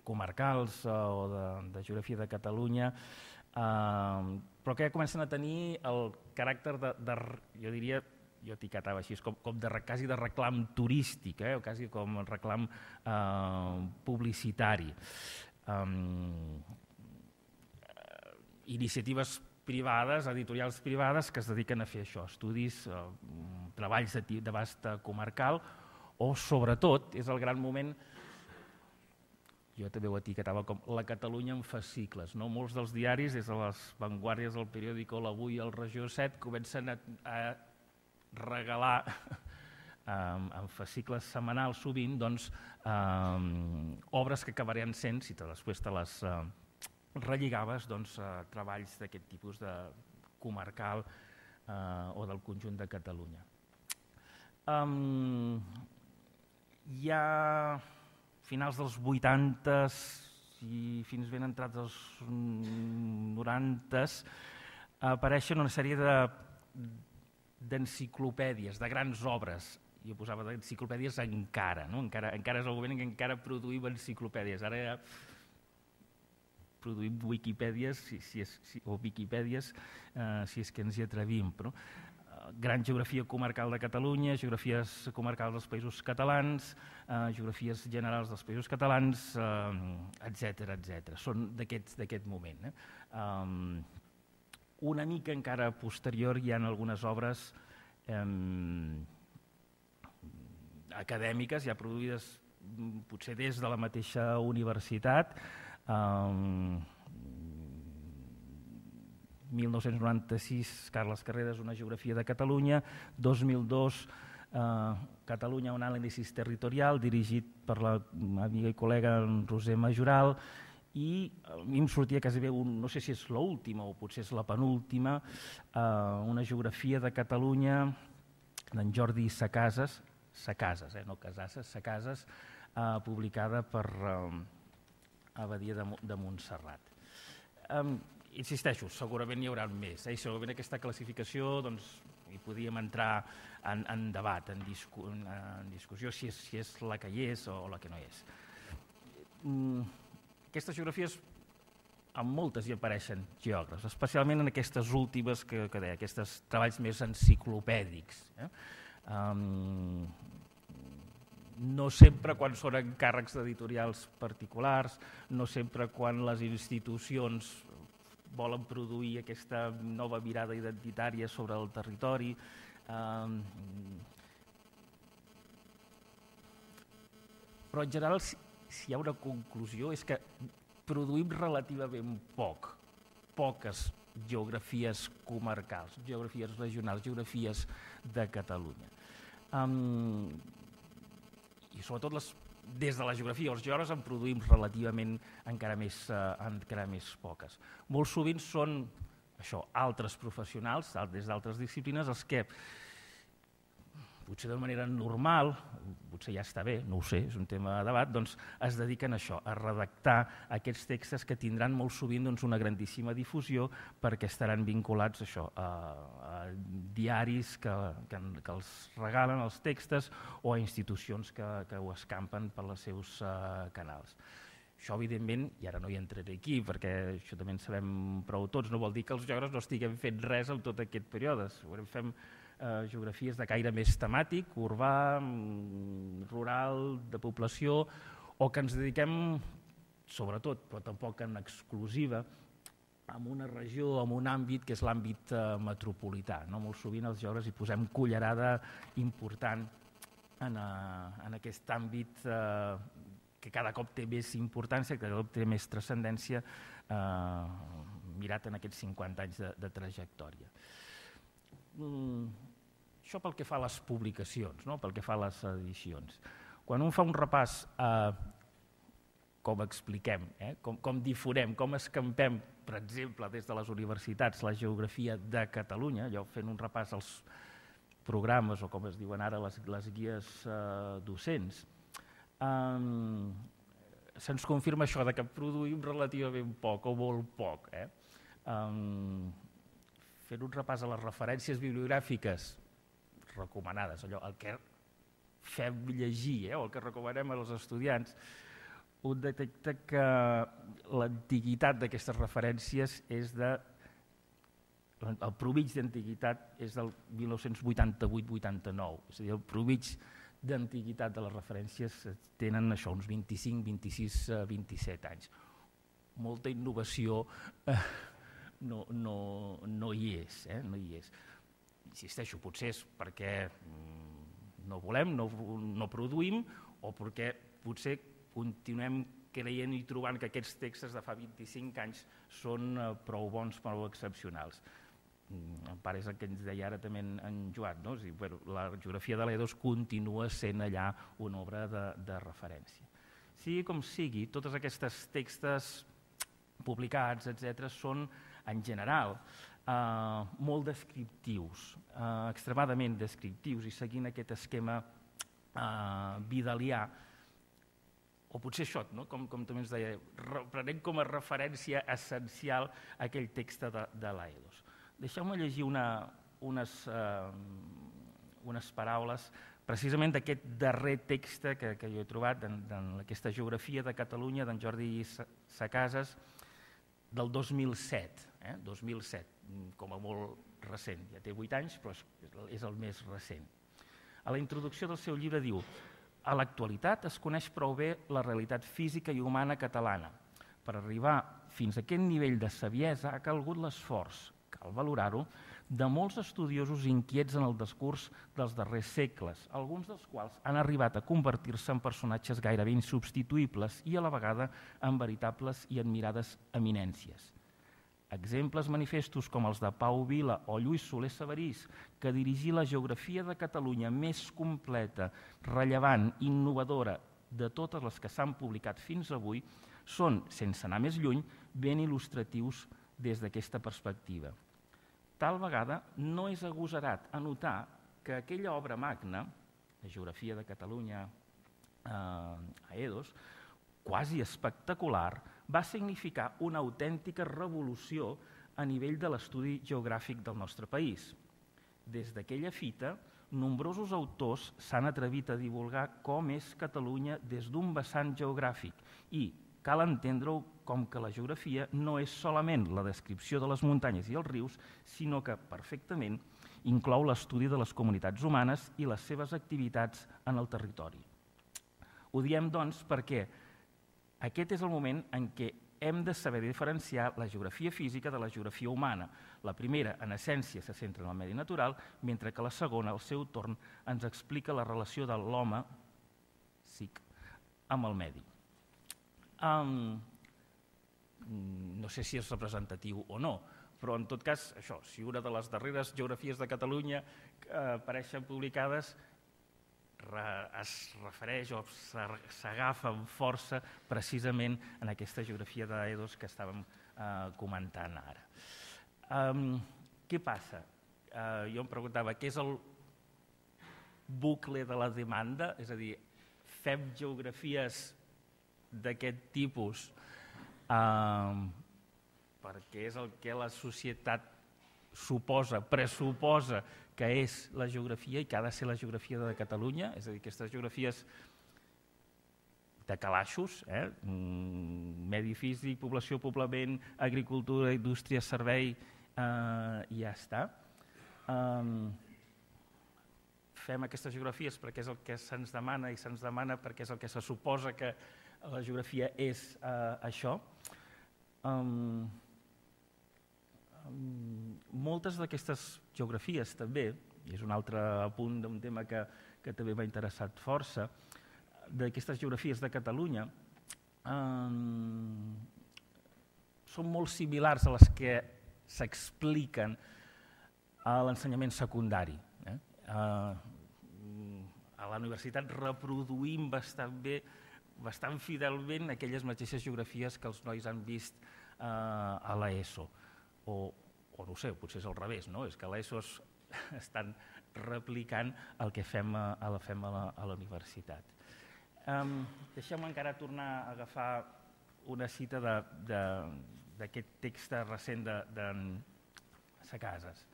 Speaker 3: comarcals o de geografia de Catalunya, però que ja comencen a tenir el caràcter jo diria, jo etiquetava així, com quasi de reclam turístic, o quasi com reclam publicitari. Iniciatives privades, editorials privades, que es dediquen a fer això, estudis treballs d'abast comarcal, o sobretot és el gran moment, jo també ho etiquetava com la Catalunya en fascicles. Molts dels diaris, des de les Vanguardies del periòdico L'Avui al Regió 7, comencen a regalar en fascicles setmanals sovint obres que acabarien sent, si després te les relligaves, treballs d'aquest tipus de comarcal o del conjunt de Catalunya. Ja a finals dels 80 i fins ben entrats als 90 apareixen una sèrie d'enciclopèdies, de grans obres. Jo posava d'enciclopèdies encara és el moment en què encara produïm enciclopèdies. Ara ja produïm Wikipèdies o Wikipèdies si és que ens hi atrevim. Gran geografia comarcal de Catalunya, geografies comarcals dels països catalans, geografies generals dels països catalans, etc. Són d'aquest moment. Una mica encara posterior hi ha algunes obres acadèmiques, ja produïdes potser des de la mateixa universitat. 1996, Carles Carreras, una geografia de Catalunya. 2002, Catalunya, un anàlisi territorial, dirigit per l'amiga i col·lega Roser Majoral. I a mi em sortia quasi bé, no sé si és l'última o potser és la penúltima, una geografia de Catalunya d'en Jordi Sacases, no Casases, Sacases, publicada per Abadia de Montserrat. Insisteixo, segurament hi haurà més, i segurament aquesta classificació hi podíem entrar en debat, en discussió, si és la que hi és o la que no hi és. Aquestes geografies, en moltes hi apareixen geògrafs, especialment en aquestes últimes que deia, aquests treballs més enciclopèdics. No sempre quan són encàrrecs d'editorials particulars, no sempre quan les institucions volen produir aquesta nova mirada identitària sobre el territori. Però en general, si hi ha una conclusió, és que produïm relativament poques geografies comarcals, geografies regionals, geografies de Catalunya. I sobretot des de la geografia, els geògrafs en produïm relativament encara més poques. Molt sovint són altres professionals, des d'altres disciplines, els que potser de manera normal, potser ja està bé, no ho sé, és un tema de debat, es dediquen a això, a redactar aquests textos que tindran molt sovint una grandíssima difusió perquè estaran vinculats a diaris que els regalen els textos o a institucions que ho escampen per els seus canals. Això, evidentment, i ara no hi entraré aquí perquè això també en sabem prou tots, no vol dir que els geògrafs no estiguem fent res en tot aquest període. Segurament fem geografies de caire més temàtic, urbà, rural, de població, o que ens dediquem, sobretot, però tampoc en exclusiva, a una regió, a un àmbit que és l'àmbit metropolità. Molt sovint els geògrafs hi posem cullerada important en aquest àmbit que cada cop té més importància, que cada cop té més transcendència, mirat en aquests 50 anys de trajectòria. Això pel que fa a les publicacions, pel que fa a les edicions. Quan un fa un repàs a com expliquem, com difonem, com escampem, per exemple, des de les universitats, la geografia de Catalunya, allò fent un repàs als programes o com es diuen ara les guies docents, se'ns confirma això que produïm relativament poc o molt poc. Fent un repàs a les referències bibliogràfiques recomanades, el que fem llegir o el que recomanem als estudiants, un detecta que l'antiguitat d'aquestes referències és el promig d'antiguitat és del 1988-89, és a dir, el promig d'antiguitat de les referències tenen això, uns 25, 26, 27 anys. Molta innovació no hi és. insisteixo, potser és perquè no volem, no produïm, o perquè potser continuem creient i trobant que aquests textos de fa 25 anys són prou bons, prou excepcionals. En part és el que ens deia ara també en Joan, no? La geografia de l'E2 continua sent allà una obra de referència. Sigui com sigui, tots aquests textos publicats, etc., són, en general, molt descriptius, extremadament descriptius, i seguint aquest esquema vidalià, o potser això, com també ens deia, prenem com a referència essencial aquell text de l'Aedos. Deixeu-me llegir unes paraules precisament d'aquest darrer text que jo he trobat d'aquesta geografia de Catalunya d'en Jordi Sacasas del 2007, 2007, com a molt recent, ja té 8 anys, però és el més recent. A la introducció del seu llibre diu: a l'actualitat es coneix prou bé la realitat física i humana catalana. Per arribar fins a aquest nivell de saviesa ha calgut l'esforç, cal valorar-ho, de molts estudiosos inquiets en el discurs dels darrers segles, alguns dels quals han arribat a convertir-se en personatges gairebé insubstituïbles i a la vegada en veritables i admirades eminències. Exemples manifestos com els de Pau Vila o Lluís Soler Sabarís, que dirigí la geografia de Catalunya més completa, rellevant, innovadora de totes les que s'han publicat fins avui, són, sense anar més lluny, ben il·lustratius des d'aquesta perspectiva. Tal vegada no és agosarat a notar que aquella obra magna, la geografia de Catalunya Aedos, quasi espectacular, va significar una autèntica revolució a nivell de l'estudi geogràfic del nostre país. Des d'aquella fita, nombrosos autors s'han atrevit a divulgar com és Catalunya des d'un vessant geogràfic i cal entendre-ho com que la geografia no és solament la descripció de les muntanyes i els rius, sinó que perfectament inclou l'estudi de les comunitats humanes i les seves activitats en el territori. Ho diem, doncs, perquè aquest és el moment en què hem de saber diferenciar la geografia física de la geografia humana. La primera, en essència, se centra en el medi natural, mentre que la segona, al seu torn, ens explica la relació de l'home psic amb el medi. No sé si és representatiu o no, però en tot cas, això, si una de les darreres geografies de Catalunya que apareixen publicades es refereix o s'agafa amb força precisament en aquesta geografia d'Aedos que estàvem comentant ara. Què passa? Jo em preguntava, què és el bucle de la demanda? És a dir, fem geografies d'aquest tipus perquè és el que la societat pressuposa que és la geografia i que ha de ser la geografia de Catalunya, és a dir, aquestes geografies de calaixos, medi físic, població, poblament, agricultura, indústria, servei, i ja està. Fem aquestes geografies perquè és el que se'ns demana i se'ns demana perquè és el que se suposa que la geografia és això. Moltes d'aquestes geografies també, i és un altre apunt d'un tema que també m'ha interessat força, d'aquestes geografies de Catalunya són molt similars a les que s'expliquen a l'ensenyament secundari. A la universitat reproduïm bastant fidelment aquelles mateixes geografies que els nois han vist a l'ESO. O no ho sé, potser és al revés, no? És que a l'ESO estan replicant el que fem a la universitat. Deixeu-me encara tornar a agafar una cita d'aquest text recent de Sacasas.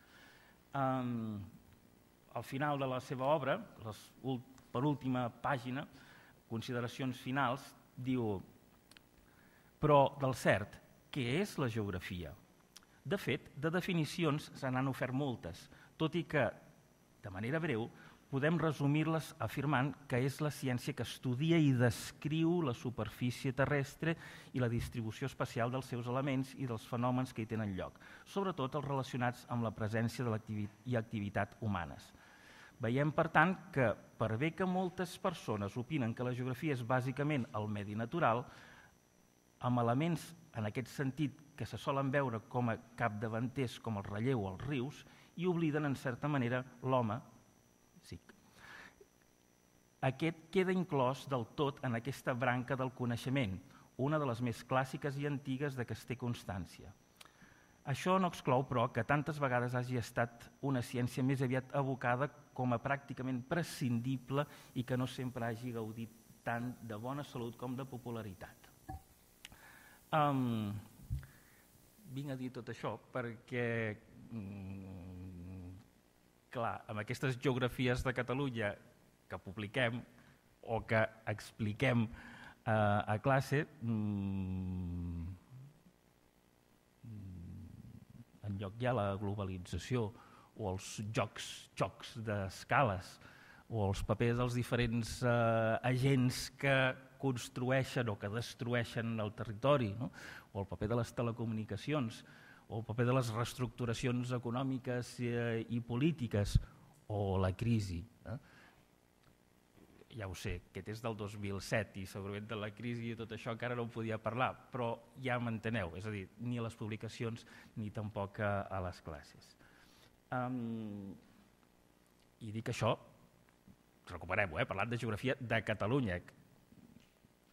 Speaker 3: Al final de la seva obra, per última pàgina, consideracions finals, diu: però del cert, què és la geografia? De fet, de definicions se n'han ofert moltes, tot i que, de manera breu, podem resumir-les afirmant que és la ciència que estudia i descriu la superfície terrestre i la distribució espacial dels seus elements i dels fenòmens que hi tenen lloc, sobretot els relacionats amb la presència i activitat humanes. Veiem, per tant, que per bé que moltes persones opinen que la geografia és bàsicament el medi natural, amb elements en aquest sentit que se solen veure com a capdavanters com el relleu o els rius, i obliden, en certa manera, l'home. Sí. Aquest queda inclòs del tot en aquesta branca del coneixement, una de les més clàssiques i antigues de què es té constància. Això no exclou, però, que tantes vegades hagi estat una ciència més aviat evocada com a pràcticament prescindible i que no sempre hagi gaudit tant de bona salut com de popularitat. Vinc a dir tot això perquè clar, amb aquestes geografies de Catalunya que publiquem o que expliquem a classe, enlloc hi ha la globalització o els xocs d'escales o els papers dels diferents agents que construeixen o que destrueixen el territori, no? O el paper de les telecomunicacions, o el paper de les reestructuracions econòmiques i polítiques, o la crisi. Ja ho sé, aquest és del 2007 i segurament de la crisi i tot això encara no en podia parlar, però ja m'enteneu, és a dir, ni a les publicacions ni tampoc a les classes. I dic això, recuperem-ho, parlant de geografia de Catalunya,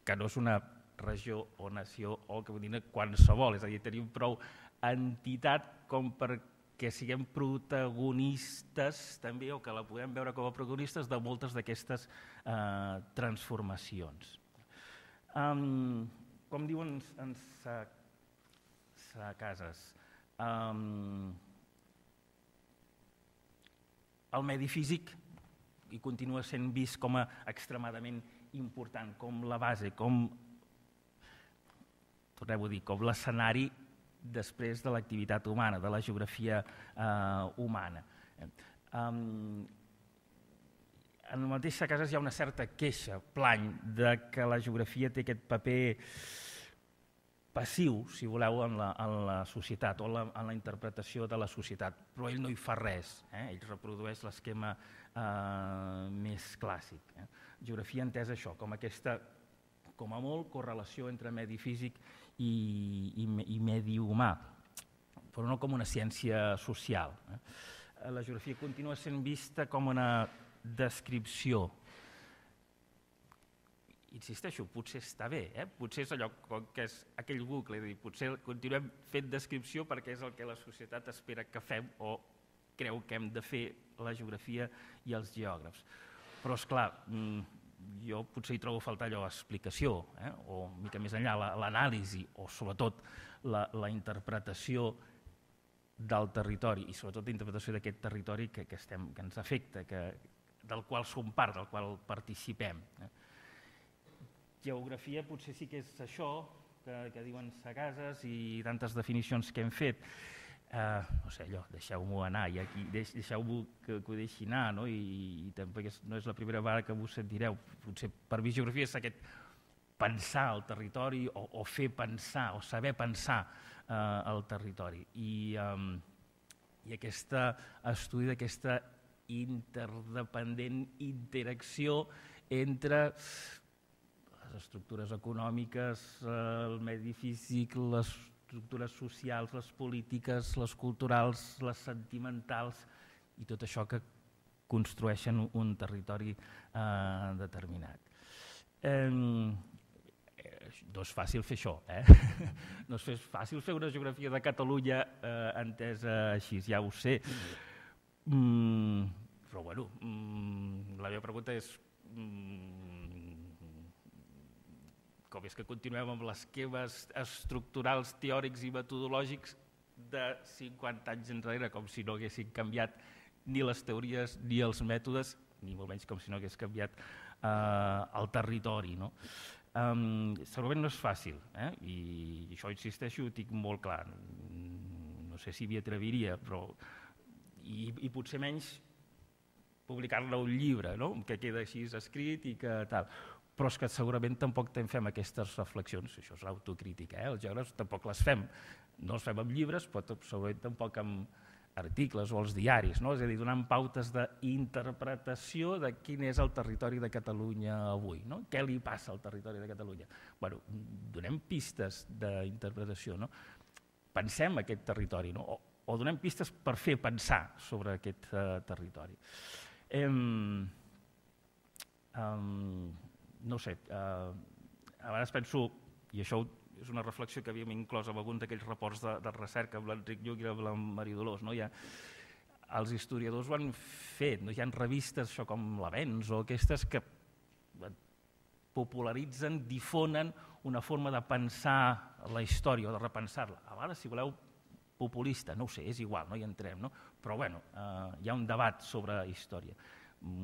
Speaker 3: que no és una regió o nació o que vull dir qualsevol, és a dir, tenim prou entitat com perquè siguem protagonistes també, o que la podem veure com a protagonistes de moltes d'aquestes transformacions. Com diuen en Cases, el medi físic i continua sent vist com a extremadament important, com la base, com, tornem a dir, com l'escenari després de l'activitat humana, de la geografia humana. En la mateixa Cases hi ha una certa queixa, plany, de que la geografia té aquest paper passiu, si voleu, en la societat o en la interpretació de la societat, però ell no hi fa res, ell reprodueix l'esquema més clàssic. Geografia entesa això, com aquesta, com a molt, correlació entre medi físic i medi humà, però no com una ciència social. La geografia continua sent vista com una descripció. Insisteixo, potser està bé, potser és allò que és aquell bucle, és a dir, potser continuem fent descripció perquè és el que la societat espera que fem o creu que hem de fer la geografia i els geògrafs. Però, esclar, jo potser hi trobo a faltar allò explicació, o una mica més enllà l'anàlisi, o sobretot la interpretació del territori, i sobretot la interpretació d'aquest territori que ens afecta, del qual som part, del qual participem. Geografia potser sí que és això que diuen Cases i tantes definicions que hem fet. No sé, allò, deixeu-m'ho anar, i aquí deixeu-m'ho que ho deixi anar, i tampoc no és la primera vegada que vos sentireu. Potser per mi geografia és aquest pensar el territori o fer pensar o saber pensar el territori. I aquest estudi d'aquesta interdependent interacció entre les estructures econòmiques, el medi físic, les estructures socials, les polítiques, les culturals, les sentimentals i tot això que construeixen un territori determinat. No és fàcil fer això, no és fàcil fer una geografia de Catalunya entesa així, ja ho sé. Però bueno, la meva pregunta és com és que continuem amb les esquemes estructurals, teòrics i metodològics de 50 anys enrere, com si no haguessin canviat ni les teories ni els mètodes, ni molt menys com si no hagués canviat el territori. Segurament no és fàcil, i això, insisteixo, ho tinc molt clar. No sé si m'hi atreviria, però i potser menys publicar-ne un llibre, que queda així escrit i que tal. Però és que segurament tampoc fem aquestes reflexions, això és l'autocrítica, els geògrafs tampoc les fem, no les fem amb llibres, però segurament tampoc amb articles o els diaris, és a dir, donant pautes d'interpretació de quin és el territori de Catalunya avui, què li passa al territori de Catalunya. Donem pistes d'interpretació, pensem aquest territori, o donem pistes per fer pensar sobre aquest territori. No sé, a vegades penso, i això és una reflexió que havíem inclòs en alguns d'aquells reports de recerca amb l'Enric Lluch i amb la Maria Dolors, els historiadors ho han fet, hi ha revistes com l'Avenç o aquestes que popularitzen, difonen una forma de pensar la història o de repensar-la. A vegades, si voleu, populista, no ho sé, és igual, no hi entrem, però hi ha un debat sobre història.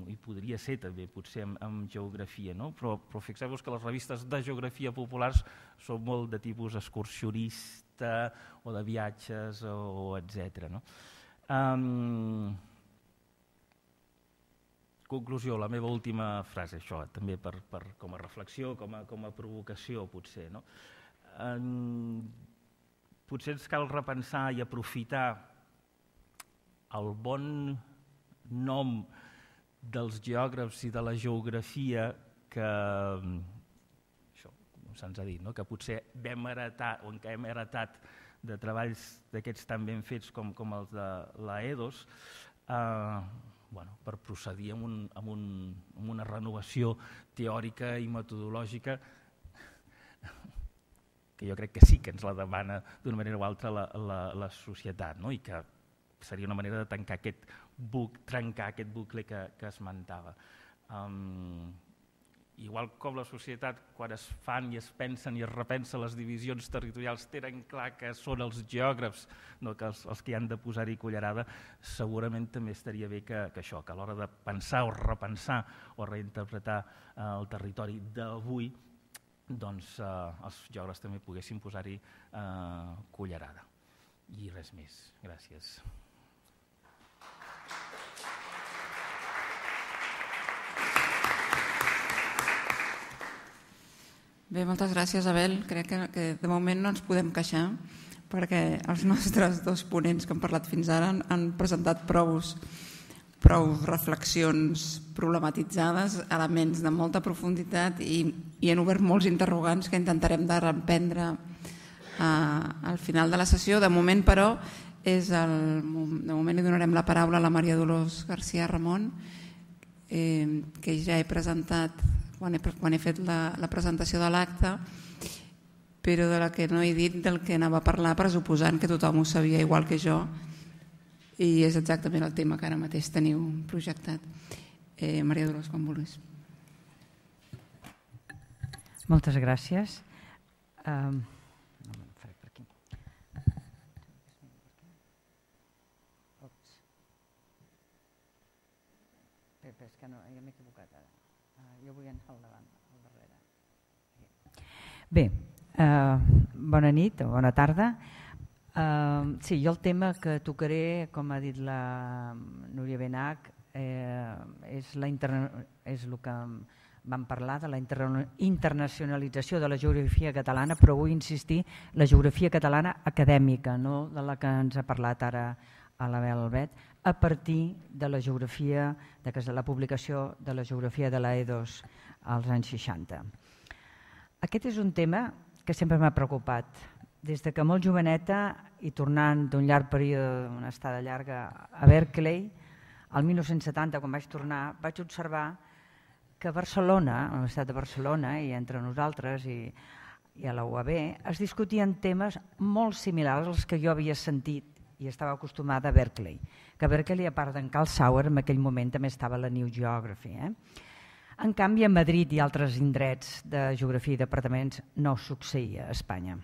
Speaker 3: I podria ser també potser amb geografia, però fixeu-vos que les revistes de geografia populars són molt de tipus excursionista o de viatges o etc. Conclusió, la meva última frase, això també com a reflexió, com a provocació potser. Potser ens cal repensar i aprofitar el bon nom dels geògrafs i de la geografia que, se'ns ha dit, que potser vam heretar o que hem heretat de treballs d'aquests tan ben fets com els de l'Aedos, per procedir amb una renovació teòrica i metodològica que jo crec que sí que ens la demana d'una manera o altra la societat, i que seria una manera de trencar aquest bucle que esmentava. Igual com la societat, quan es fan i es pensen i es repensen les divisions territorials, tenen clar que són els geògrafs els que hi han de posar-hi cullerada, segurament també estaria bé que això, que a l'hora de pensar o repensar o reinterpretar el territori d'avui, doncs els geògrafs també poguessin posar-hi cullerada. I res més. Gràcies.
Speaker 1: Bé, moltes gràcies, Abel. Crec que de moment no ens podem queixar perquè els nostres dos ponents que han parlat fins ara han presentat prou reflexions problematitzades, elements de molta profunditat i han obert molts interrogants que intentarem de reprendre al final de la sessió. De moment, però, li donarem la paraula a la Maria Dolors García Ramon, que ja he presentat quan he fet la presentació de l'acte, però de la que no he dit del que anava a parlar, pressuposant que tothom ho sabia igual que jo, i és exactament el tema que ara mateix teniu projectat. Maria Dolors, quan vulguis.
Speaker 4: Moltes gràcies. És que no, jo m'he equivocat ara. Jo vull anar al davant, al darrere. Bé, bona nit o bona tarda. Sí, jo el tema que tocaré, com ha dit la Núria Benach, és el que vam parlar de la internacionalització de la geografia catalana, però vull insistir, la geografia catalana acadèmica, no de la que ens ha parlat ara a l'Abel Albet, a partir de la geografia, de la publicació de la geografia de l'Aedos als anys 60. Aquest és un tema que sempre m'ha preocupat. Des de que molt joveneta i tornant d'un llarg període, una estada llarga a Berkeley, el 1970, quan vaig tornar, vaig observar que a Barcelona, a la Universitat de Barcelona, i entre nosaltres i a la UAB, es discutien temes molt similars als que jo havia sentit i estava acostumada a Berkeley. Que a Berkeley, a part d'en Carl Sauer, en aquell moment també estava la New Geography. En canvi, a Madrid i altres indrets de geografia i departaments no succeïa a Espanya.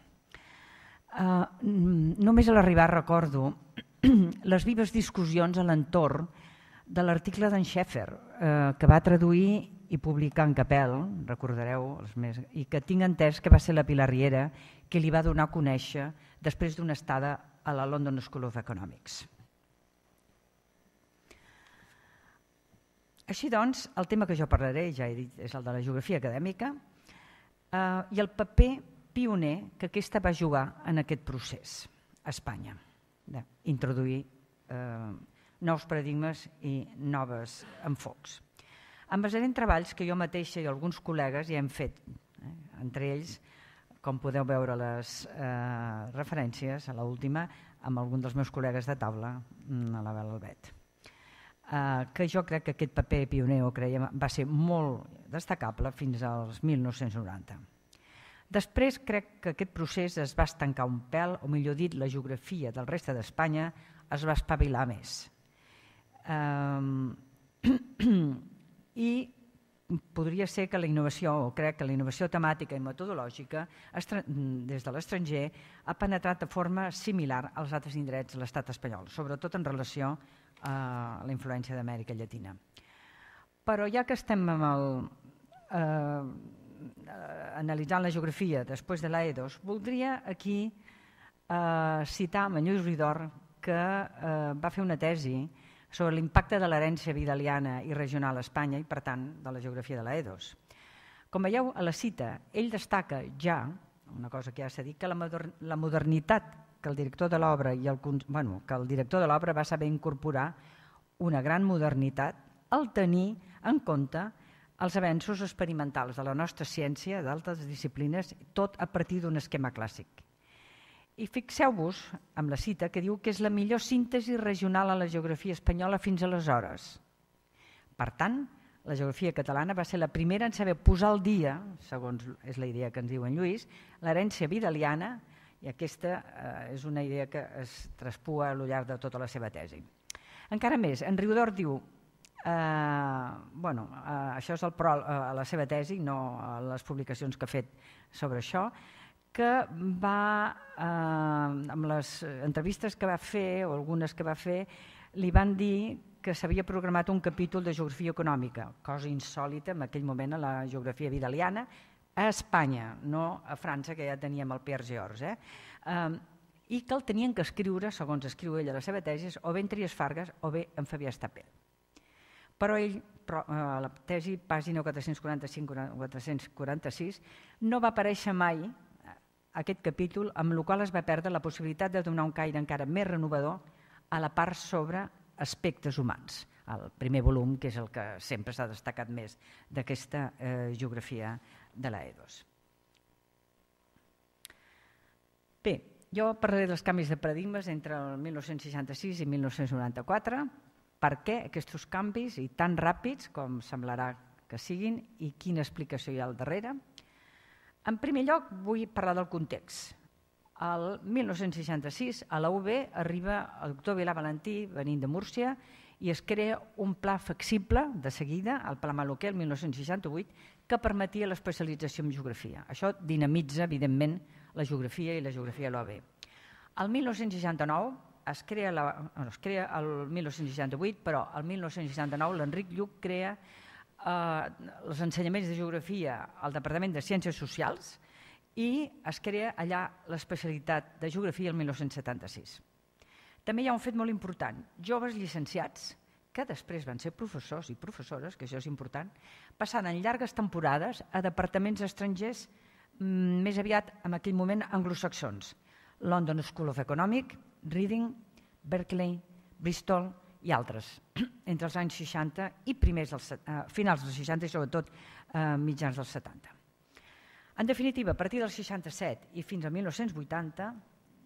Speaker 4: Només a l'arribar recordo les vives discussions a l'entorn de l'article d'en Schaeffer, que va traduir i publicar en Capel, recordareu, i que tinc entès que va ser la Pilar Riera que li va donar a conèixer després d'una estada a la London School of Economics. Així doncs, el tema que jo parlaré, ja he dit, és el de la geografia acadèmica i el paper pioner que aquesta va jugar en aquest procés a Espanya, d'introduir nous paradigmes i noves enfocs. Em basaré en treballs que jo mateixa i alguns col·legues ja hem fet, entre ells, com podeu veure les referències a l'última, amb algun dels meus col·legues de taula, a la Bel Albet, que jo crec que aquest paper pioner va ser molt destacable fins als 1990. Després crec que aquest procés es va estancar un pèl, o millor dit, la geografia del reste d'Espanya es va espavilar més. I podria ser que la innovació, o crec que la innovació temàtica i metodològica des de l'estranger ha penetrat de forma similar als altres indrets de l'estat espanyol, sobretot en relació a la influència d'Amèrica Llatina. Però ja que estem analitzant la geografia després de l'A2, voldria aquí citar Lluís Ridor, que va fer una tesi sobre l'impacte de l'herència vidaliana i regional a Espanya i, per tant, de la geografia de l'A2. Com veieu a la cita, ell destaca ja, una cosa que ja s'ha dit, que la modernitat que el director de l'obra va saber incorporar una gran modernitat al tenir en compte els avenços experimentals de la nostra ciència, d'altres disciplines, tot a partir d'un esquema clàssic. I fixeu-vos amb la cita que diu que és la millor síntesi regional a la geografia espanyola fins aleshores. Per tant, la geografia catalana va ser la primera en saber posar al dia, segons és la idea que ens diu en Lluís, l'herència vidaliana, i aquesta és una idea que es traspua a lo llarg de tota la seva tesi. Encara més, en Riudor diu, això és el pro a la seva tesi, no a les publicacions que ha fet sobre això, que amb les entrevistes que va fer, o algunes que va fer, li van dir que s'havia programat un capítol de geografia econòmica, cosa insòlita en aquell moment a la geografia vidaliana, a Espanya, no a França, que ja teníem el Pierre Georges, i que el tenien que escriure, segons escriu ell a la seva tesi, o bé en Trias Fargas o bé en Fabià Estapé. Però ell, a la tesi, pàgina 445-446, no va aparèixer mai aquest capítol, amb el qual es va perdre la possibilitat de donar un caire encara més renovador a la part sobre aspectes humans, el primer volum, que és el que sempre s'ha destacat més d'aquesta geografia de l'A2. Bé, jo parlaré dels canvis de paradigmes entre el 1966 i 1994, per què aquests canvis, i tan ràpids com semblarà que siguin, i quina explicació hi ha al darrere. En primer lloc, vull parlar del context. El 1966, a la UB, arriba el doctor Vilà Valentí, venint de Múrcia, i es crea un pla flexible, de seguida, el Pla Maluquer, el 1968, que permetia l'especialització en geografia. Això dinamitza, evidentment, la geografia i la geografia de l'UB. El 1969 es crea el 1968, però el 1969 l'Enric Lluch crea els ensenyaments de geografia al Departament de Ciències Socials i es crea allà l'especialitat de geografia el 1976. També hi ha un fet molt important. Joves llicenciats, que després van ser professors i professores, que això és important, passaren llargues temporades a departaments estrangers més aviat en aquell moment anglosaxons. London School of Economics, Reading, Berkeley, Bristol i altres, entre els anys 60 i finals dels 60 i sobretot mitjans dels 70. En definitiva, a partir del 67 i fins al 1980,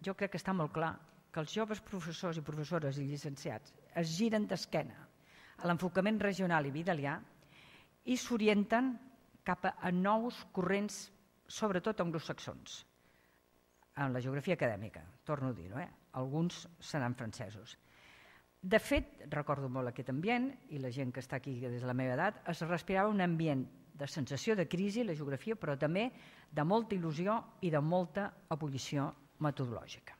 Speaker 4: jo crec que està molt clar que els joves professors i professores i llicenciats es giren d'esquena a l'enfocament regional i vidalià i s'orienten cap a nous corrents, sobretot anglosaxons, en la geografia acadèmica, torno a dir-ho, alguns seran francesos. De fet, recordo molt aquest ambient, i la gent que està aquí des de la meva edat, es respirava un ambient de sensació de crisi, la geografia, però també de molta il·lusió i de molta ebullició metodològica.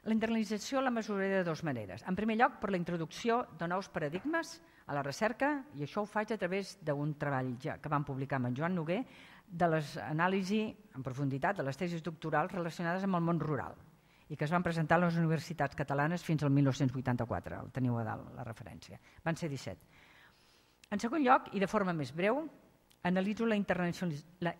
Speaker 4: La internalització la mesuraré de dues maneres. En primer lloc, per la introducció de nous paradigmes a la recerca, i això ho faig a través d'un treball que vam publicar amb en Joan Noguer, de l'anàlisi en profunditat de les tesis doctorals relacionades amb el món rural. i que es van presentar a les universitats catalanes fins al 1984, el teniu a dalt, la referència. Van ser 17. En segon lloc, i de forma més breu, analitzo la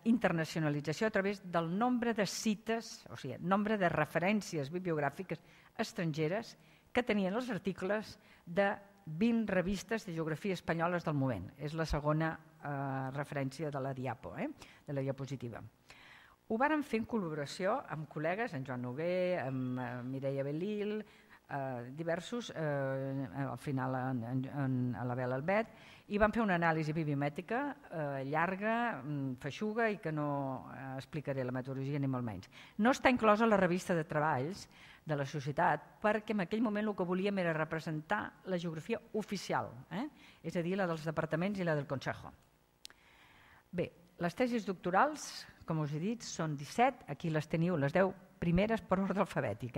Speaker 4: internacionalització a través del nombre de cites, o sigui, nombre de referències bibliogràfiques estrangeres que tenien els articles de 20 revistes de geografia espanyoles del moment. És la segona referència de la diapo, de la diapositiva. Ho vàrem fer en col·laboració amb col·legues, en Joan Noguer, amb Mireia Belil, diversos, al final a l'Abel Albet, i vam fer una anàlisi bibliomètrica llarga, feixuga, i que no explicaré la metodologia ni molt menys. No està inclosa la revista de treballs de la societat, perquè en aquell moment el que volíem era representar la geografia oficial, és a dir, la dels departaments i la del Consejo. Bé, les tesis doctorals, com us he dit, són 17, aquí les teniu, les 10 primeres per ordre alfabètic.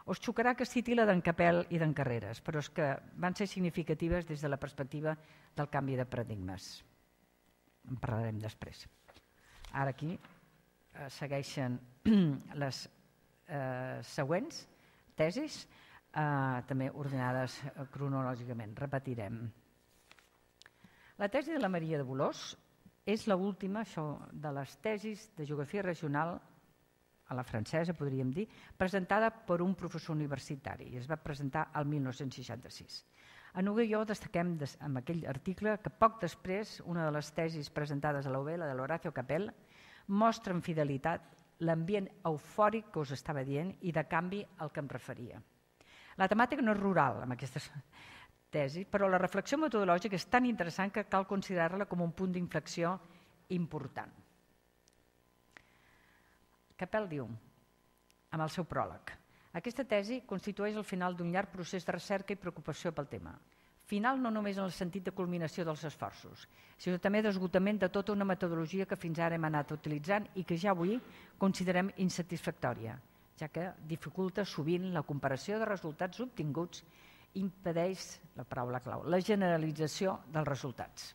Speaker 4: Us xocarà que citi la d'en Capel i d'en Carreras, però és que van ser significatives des de la perspectiva del canvi de paradigmes. En parlarem després. Ara aquí segueixen les següents tesis, també ordenades cronològicament. Repetirem. La tesi de la Maria de Bolòs és l'última de les tesis de geografia regional a la francesa, podríem dir, presentada per un professor universitari i es va presentar el 1966. A Noguer i jo destaquem en aquell article que poc després una de les tesis presentades a la UB, la de l'Horacio Capel, mostra amb fidelitat l'ambient eufòric que us estava dient i de canvi al que em referia. La temàtica no és rural amb aquestes tesis, però la reflexió metodològica és tan interessant que cal considerar-la com un punt d'inflexió important. Capel diu, amb el seu pròleg, aquesta tesi constitueix el final d'un llarg procés de recerca i preocupació pel tema. Final no només en el sentit de culminació dels esforços, sinó també d'esgotament de tota una metodologia que fins ara hem anat utilitzant i que ja avui considerem insatisfactòria, ja que dificulta sovint la comparació de resultats obtinguts i impedeix, la paraula clau, la generalització dels resultats.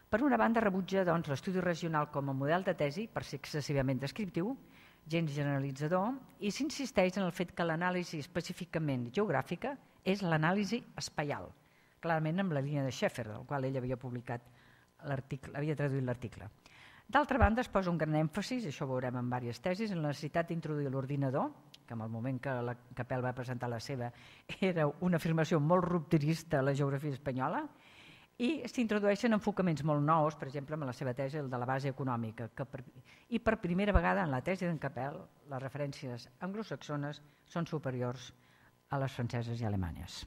Speaker 4: Per una banda, rebutja l'estudi regional com a model de tesi, per ser excessivament descriptiu, gens generalitzador, i s'insisteix en el fet que l'anàlisi específicament geogràfica és l'anàlisi espaial, clarament amb la línia de Schaeffer, del qual ell havia publicat l'article, havia traduït l'article. D'altra banda, es posa un gran èmfasis, això ho veurem en diverses tesis, en la necessitat d'introduir l'ordinador, que en el moment que la Capel va presentar la seva era una afirmació molt rupturista a la geografia espanyola, i s'introdueixen enfocaments molt nous, per exemple, en la seva tesi, el de la base econòmica, i per primera vegada en la tesi d'en Capel les referències anglosaxones són superiors a les franceses i alemanyes.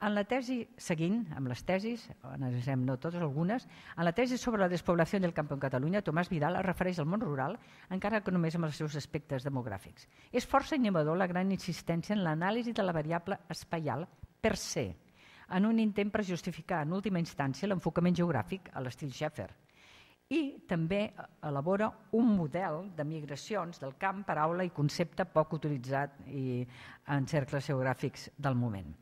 Speaker 4: En la tesi seguint, amb les tesis, analitzem no totes, algunes, en la tesi sobre la despoblació del camp en Catalunya, Tomàs Vidal es refereix al món rural, encara que només amb els seus aspectes demogràfics. És força innovador la gran insistència en l'anàlisi de la variable espaial per se, en un intent per justificar en última instància l'enfocament geogràfic a l'estil Schaeffer. I també elabora un model de migracions del camp, paraula i concepte poc utilitzat en cercles geogràfics del moment.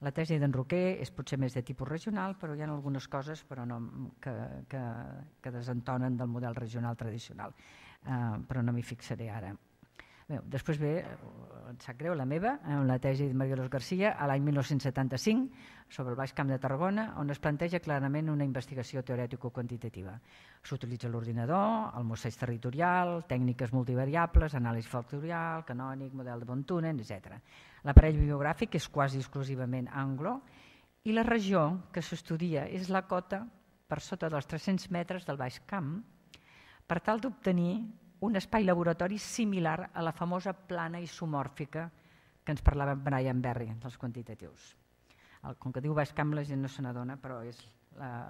Speaker 4: La tesi d'en Roquer és potser més de tipus regional, però hi ha algunes coses que desentonen del model regional tradicional, però no m'hi fixaré ara. Després ve, em sap greu, la meva, la tesi de María Dolors García, a l'any 1975, sobre el Baix Camp de Tarragona, on es planteja clarament una investigació teorètico-quantitativa. S'utilitza l'ordinador, el mosseig territorial, tècniques multivariables, anàlisi factorial, canònic, model de von Thunen, etc. L'aparell bibliogràfic és quasi exclusivament anglo i la regió que s'estudia és la cota per sota dels 300 metres del Baix Camp per tal d'obtenir un espai laboratori similar a la famosa plana isomòrfica que ens parlava Brian Berry, dels quantitatius. Com que diu Baix Camp, la gent no se n'adona, però és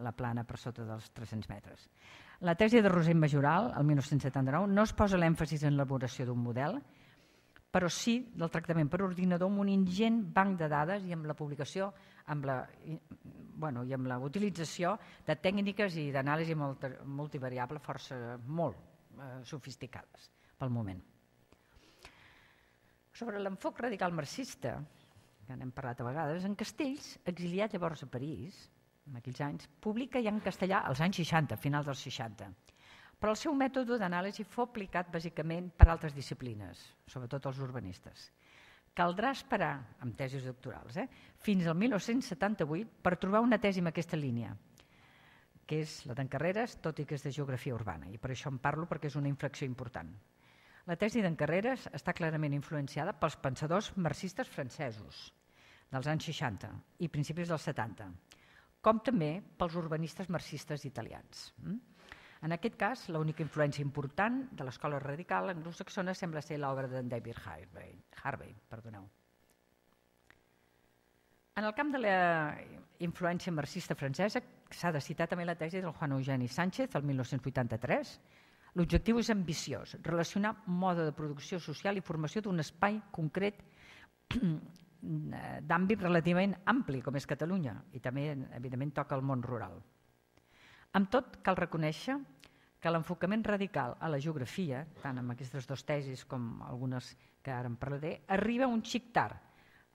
Speaker 4: la plana per sota dels 300 metres. La tesi de Rosell Majoral, el 1979, no es posa l'èmfasis en l'elaboració d'un model, però sí del tractament per ordinador amb un ingent banc de dades i amb la publicació i amb la utilització de tècniques i d'anàlisi multivariable força molt sofisticades pel moment. Sobre l'enfoc radical marxista, que n'hem parlat a vegades, en Castells, exiliat llavors a París, en aquells anys, publica ja en castellà als anys 60, finals dels 60, Però el seu mètode d'anàlisi fou aplicat bàsicament per altres disciplines, sobretot els urbanistes. Caldrà esperar, amb tesis doctorals, fins al 1978 per trobar una tesi en aquesta línia, que és la d'en Carreras, tot i que és de geografia urbana, i per això en parlo perquè és una inflexió important. La tesi d'en Carreras està clarament influenciada pels pensadors marxistes francesos dels anys 60 i principis dels 70, com també pels urbanistes marxistes italians. En aquest cas, l'única influència important de l'escola radical anglosaxona sembla ser l'obra d'en David Harvey. En el camp de la influència marxista francesa s'ha de citar també la tesi del Juan Eugeni Sánchez, el 1983. L'objectiu és ambiciós, relacionar mode de producció social i formació d'un espai concret d'àmbit relativament ampli, com és Catalunya, i també, evidentment, toca el món rural. Amb tot, cal reconèixer que l'enfocament radical a la geografia, tant amb aquestes dues tesis com algunes que ara en parlaré, arriba un xic tard,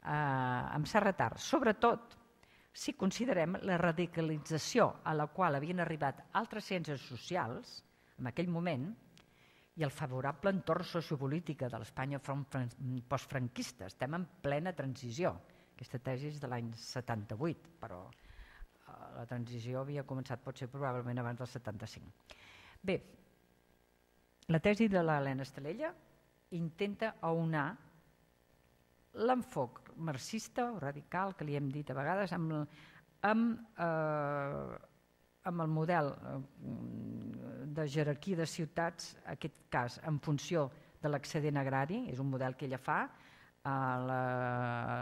Speaker 4: amb cert retard, sobretot si considerem la radicalització a la qual havien arribat altres ciències socials en aquell moment i el favorable entorn sociopolítica de l'Espanya postfranquista. Estem en plena transició. Aquesta tesi és de l'any 78, però la transició havia començat potser probablement abans del 75. Bé, la tesi de l'Helena Estalella intenta aunar l'enfoc marxista o radical, que li hem dit a vegades, amb el model de jerarquia de ciutats, en aquest cas en funció de l'excedent agrari, és un model que ella fa a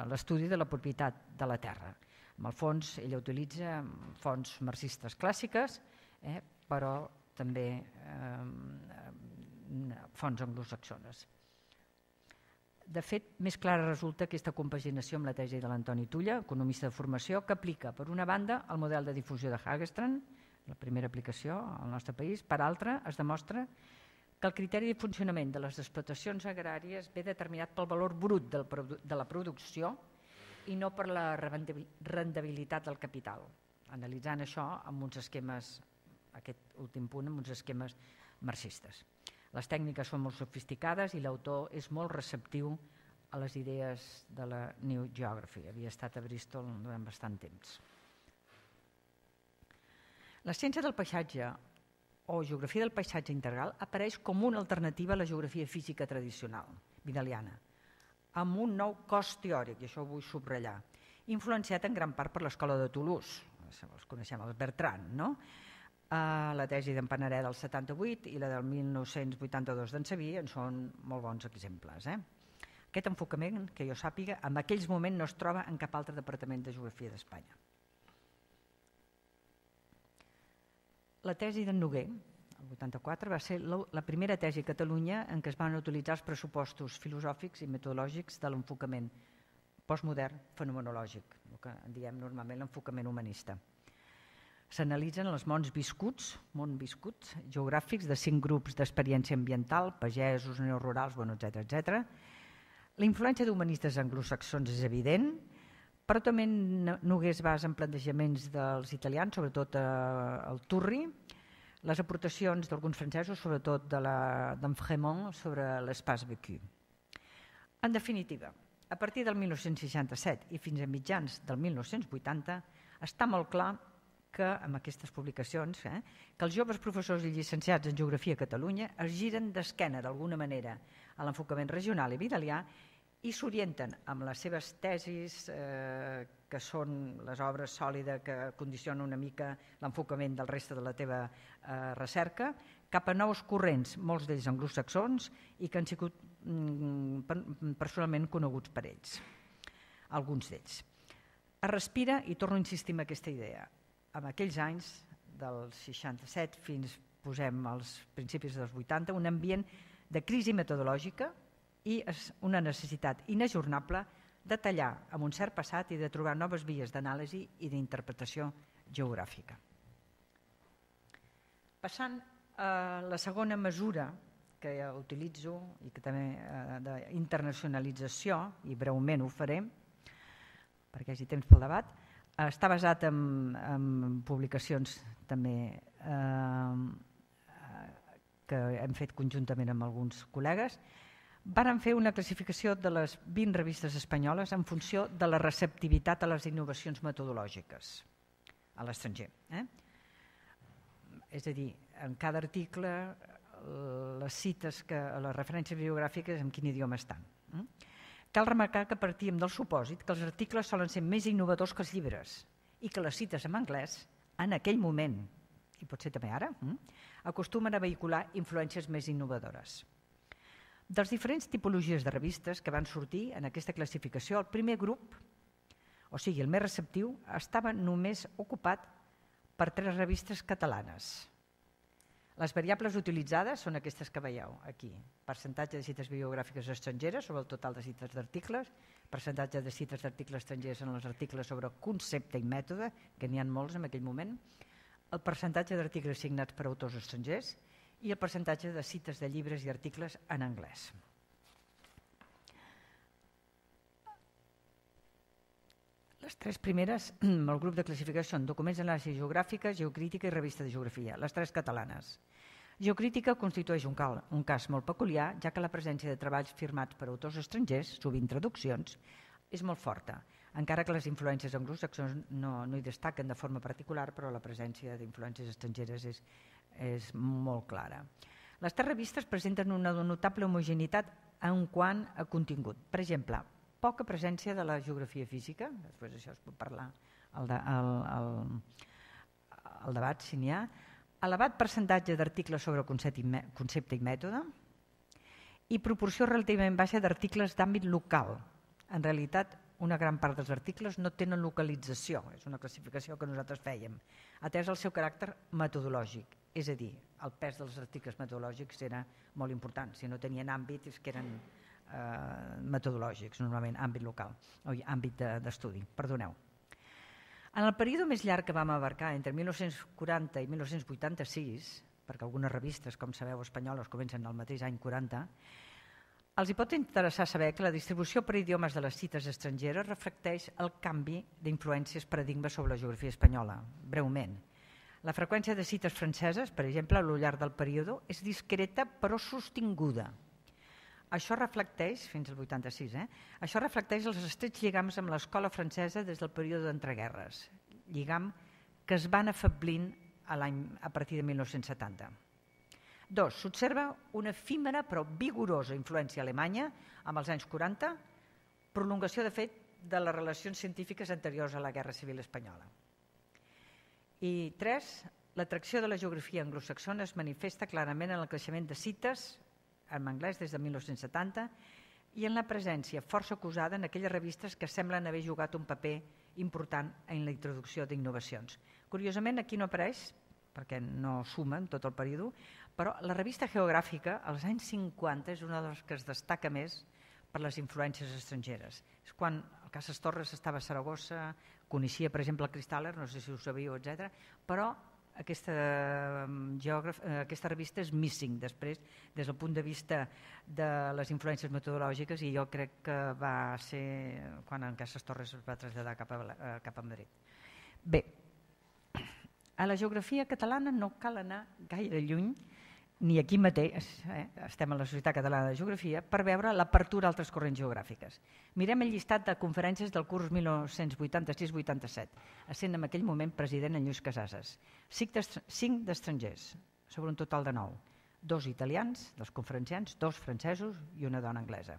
Speaker 4: l'estudi de la propietat de la terra. En el fons, ella utilitza fonts marxistes clàssiques, però també fonts anglosaxones. De fet, més clara resulta aquesta compaginació amb la tesi de l'Antoni Tulla, economista de formació, que aplica, per una banda, el model de difusió de Hagstrand, la primera aplicació al nostre país, per altra, es demostra que el criteri de funcionament de les explotacions agràries ve determinat pel valor brut de la producció i no per la rendibilitat del capital, analitzant això amb uns esquemes, aquest últim punt, amb uns esquemes marxistes. Les tècniques són molt sofisticades i l'autor és molt receptiu a les idees de la New Geography. Havia estat a Bristol durant bastant temps. La ciència del paisatge o geografia del paisatge integral apareix com una alternativa a la geografia física tradicional, vidaliana, amb un nou cos teòric, i això ho vull subratllar, influenciat en gran part per l'escola de Toulouse, els coneixem, els Bertrand, no? La tesi d'en Panaré del 78 i la del 1982 d'en Sabí en són molt bons exemples. Aquest enfocament, que jo sàpiga, en aquells moments no es troba en cap altre departament de geografia d'Espanya. La tesi d'en Noguer, el 84, va ser la primera tesi a Catalunya en què es van utilitzar els pressupostos filosòfics i metodològics de l'enfocament postmodern fenomenològic, el que en diem normalment l'enfocament humanista. S'analitzen els mons viscuts geogràfics de 5 grups d'experiència ambiental, pagesos, neorurals, etc. La influència d'humanistes anglosaxons és evident, però també Noguer es basa en plantejaments dels italians, sobretot el Turri, les aportacions d'alguns francesos, sobretot d'en Frémont, sobre l'espace vécu. En definitiva, a partir del 1967 i fins a mitjans del 1980, està molt clar que, amb aquestes publicacions, que els joves professors i llicenciats en Geografia a Catalunya es giren d'esquena d'alguna manera a l'enfocament regional i vidalià i s'orienten amb les seves tesis, que són les obres sòlides que condicionen una mica l'enfocament del reste de la teva recerca, cap a nous corrents, molts d'ells anglosaxons, i que han sigut personalment coneguts per ells, alguns d'ells. Es respira, i torno a insistir en aquesta idea, en aquells anys, del 67 fins, posem, als principis dels 80, un ambient de crisi metodològica i una necessitat inajornable de tallar amb un cert passat i de trobar noves vies d'anàlisi i d'interpretació geogràfica. Passant a la segona mesura que utilitzo i que també d'internacionalització, i breument ho faré perquè hi hagi temps pel debat, està basat en publicacions també que hem fet conjuntament amb alguns col·legues, varen fer una classificació de les 20 revistes espanyoles en funció de la receptivitat a les innovacions metodològiques a l'estranger. És a dir, en cada article les cites, les referències bibliogràfiques en quin idioma estan. Cal remarcar que partíem del supòsit que els articles solen ser més innovadors que els llibres i que les cites en anglès, en aquell moment, i potser també ara, acostumen a vehicular influències més innovadores. Dels diferents tipologies de revistes que van sortir en aquesta classificació, el primer grup, o sigui, el més receptiu, estava només ocupat per 3 revistes catalanes. Les variables utilitzades són aquestes que veieu aquí. Percentatge de cites bibliogràfiques estrangeres sobre el total de cites d'articles, percentatge de cites d'articles estrangers en els articles sobre concepte i mètode, que n'hi ha molts en aquell moment, el percentatge d'articles signats per autors estrangers i el percentatge de cites de llibres i articles en anglès. Les 3 primeres, el grup de classificació són documents d'anàlisi geogràfica, geocrítica i revista de geografia, les 3 catalanes. Geocrítica constitueix un cas molt peculiar, ja que la presència de treballs firmats per autors estrangers, sovint traduccions, és molt forta, encara que les influències anglosaxons no hi destaquen de forma particular, però la presència d'influències estrangeres és molt clara. Les 3 revistes presenten una notable homogeneïtat en quant a contingut. Per exemple, poca presència de la geografia física, després això es pot parlar al debat si n'hi ha, elevat percentatge d'articles sobre concepte i mètode i proporció relativament baixa d'articles d'àmbit local. En realitat, una gran part dels articles no tenen localització, és una classificació que nosaltres fèiem, atès el seu caràcter metodològic, és a dir, el pes dels articles metodològics era molt important, si no tenien àmbit és que eren metodològics, normalment àmbit local, o àmbit d'estudi, perdoneu. En el període més llarg que vam abarcar, entre 1940 i 1986, perquè algunes revistes, com sabeu, espanyoles, comencen al mateix any 40, els hi pot interessar saber que la distribució per idiomes de les cites estrangeres reflecteix el canvi d'influències paradigmes sobre la geografia espanyola. Breument, la freqüència de cites franceses, per exemple, al llarg del període, és discreta però sostinguda. Això reflecteix, fins al 86, això reflecteix els estrets lligams amb l'escola francesa des del període d'entreguerres, lligam que es van afablint a partir de 1970. 2. S'observa una efímera però vigorosa influència alemanya amb els anys 40, prolongació de fet de les relacions científiques anteriors a la Guerra Civil Espanyola. I 3. L'atracció de la geografia anglosaxona es manifesta clarament en el creixement de cites en anglès des de 1970 i en la presència força acusada en aquelles revistes que semblen haver jugat un paper important en la introducció d'innovacions. Curiosament, aquí no apareix, perquè no suma en tot el període, però la revista geogràfica, als anys 50, és una de les que es destaca més per les influències estrangeres. És quan el Casas Torres estava a Saragossa, coneixia, per exemple, el Cristal·ler, no sé si ho sabíeu, etc. Però aquesta revista és missing després des del punt de vista de les influències metodològiques i jo crec que va ser quan en Casas Torres es va traslladar cap a Madrid. Bé, a la geografia catalana no cal anar gaire lluny, ni aquí mateix, estem a la Societat Catalana de Geografia, per veure l'apertura a altres corrents geogràfiques. Mirem el llistat de conferències del curs 1986-87, essent en aquell moment president en Lluís Casases. 5 d'estrangers, sobre un total de 9. 2 italians, dels conferenciants, 2 francesos i una dona anglesa.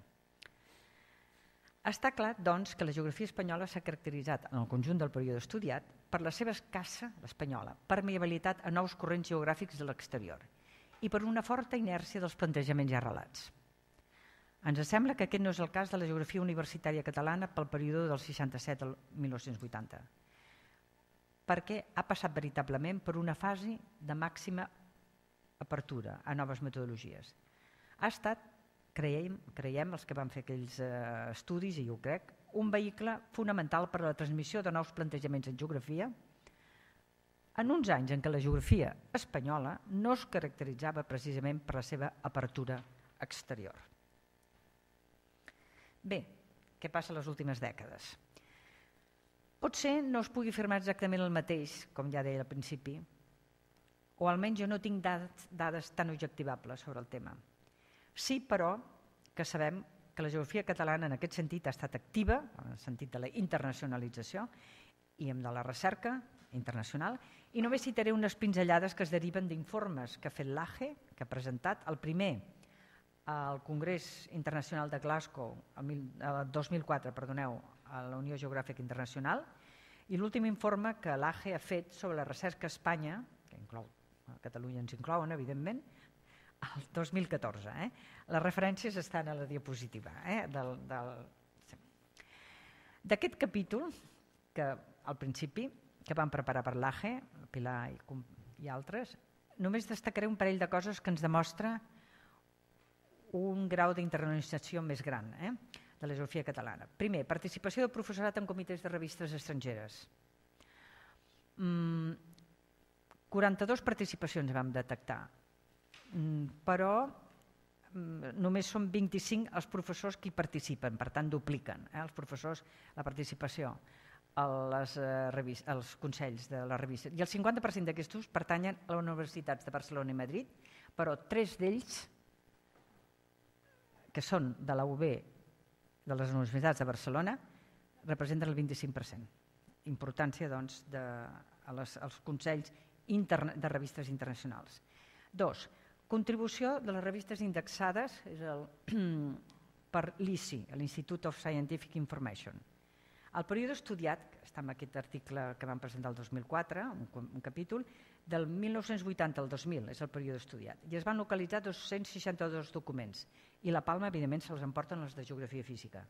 Speaker 4: Està clar, doncs, que la geografia espanyola s'ha caracteritzat en el conjunt del període estudiat per la seva escassa, l'espanyola, permeabilitat a nous corrents geogràfics de l'exterior i per una forta inèrcia dels plantejaments ja arrelats. Ens sembla que aquest no és el cas de la geografia universitària catalana pel període del 67 al 1980, perquè ha passat veritablement per una fase de màxima apertura a noves metodologies. Ha estat, creiem els que van fer aquells estudis, i jo ho crec, un vehicle fonamental per a la transmissió de nous plantejaments en geografia en uns anys en què la geografia espanyola no es caracteritzava precisament per la seva apertura exterior. Bé, què passa a les últimes dècades? Potser no es pugui afirmar exactament el mateix, com ja deia al principi, o almenys jo no tinc dades tan objectivables sobre el tema. Sí, però, que sabem que la geografia catalana en aquest sentit ha estat activa, en el sentit de la internacionalització i de la recerca internacional, i només citaré unes pinzellades que es deriven d'informes que ha fet l'AGE, que ha presentat el primer al Congrés Internacional de Glasgow el 2004, a la Unió Geogràfica Internacional, i l'últim informe que l'AGE ha fet sobre la recerca a Espanya, que inclou, a Catalunya ens inclouen, evidentment, el 2014. Les referències estan a la diapositiva. D'aquest capítol, que al principi, que vam preparar per l'AGE, Pilar i altres, només destacaré un parell de coses que ens demostra un grau d'internacionalització més gran de la geografia catalana. Primer, participació del professorat en comitès de revistes estrangeres. 42 participacions vam detectar, però només són 25 els professors que hi participen, per tant dupliquen els professors la participació als consells de les revistes. I el 50% d'aquests pertanyen a les universitats de Barcelona i Madrid, però 3 d'ells, que són de la UB, de les universitats de Barcelona, representen el 25%. Importància, doncs, als consells de revistes internacionals. 2. Contribució de les revistes indexades per l'ISI, l'Institute of Scientific Information. El període estudiat, està en aquest article que vam presentar el 2004, un capítol, del 1980 al 2000 és el període estudiat, i es van localitzar 262 documents, i la palma, evidentment, se'ls emporten els de geografia física.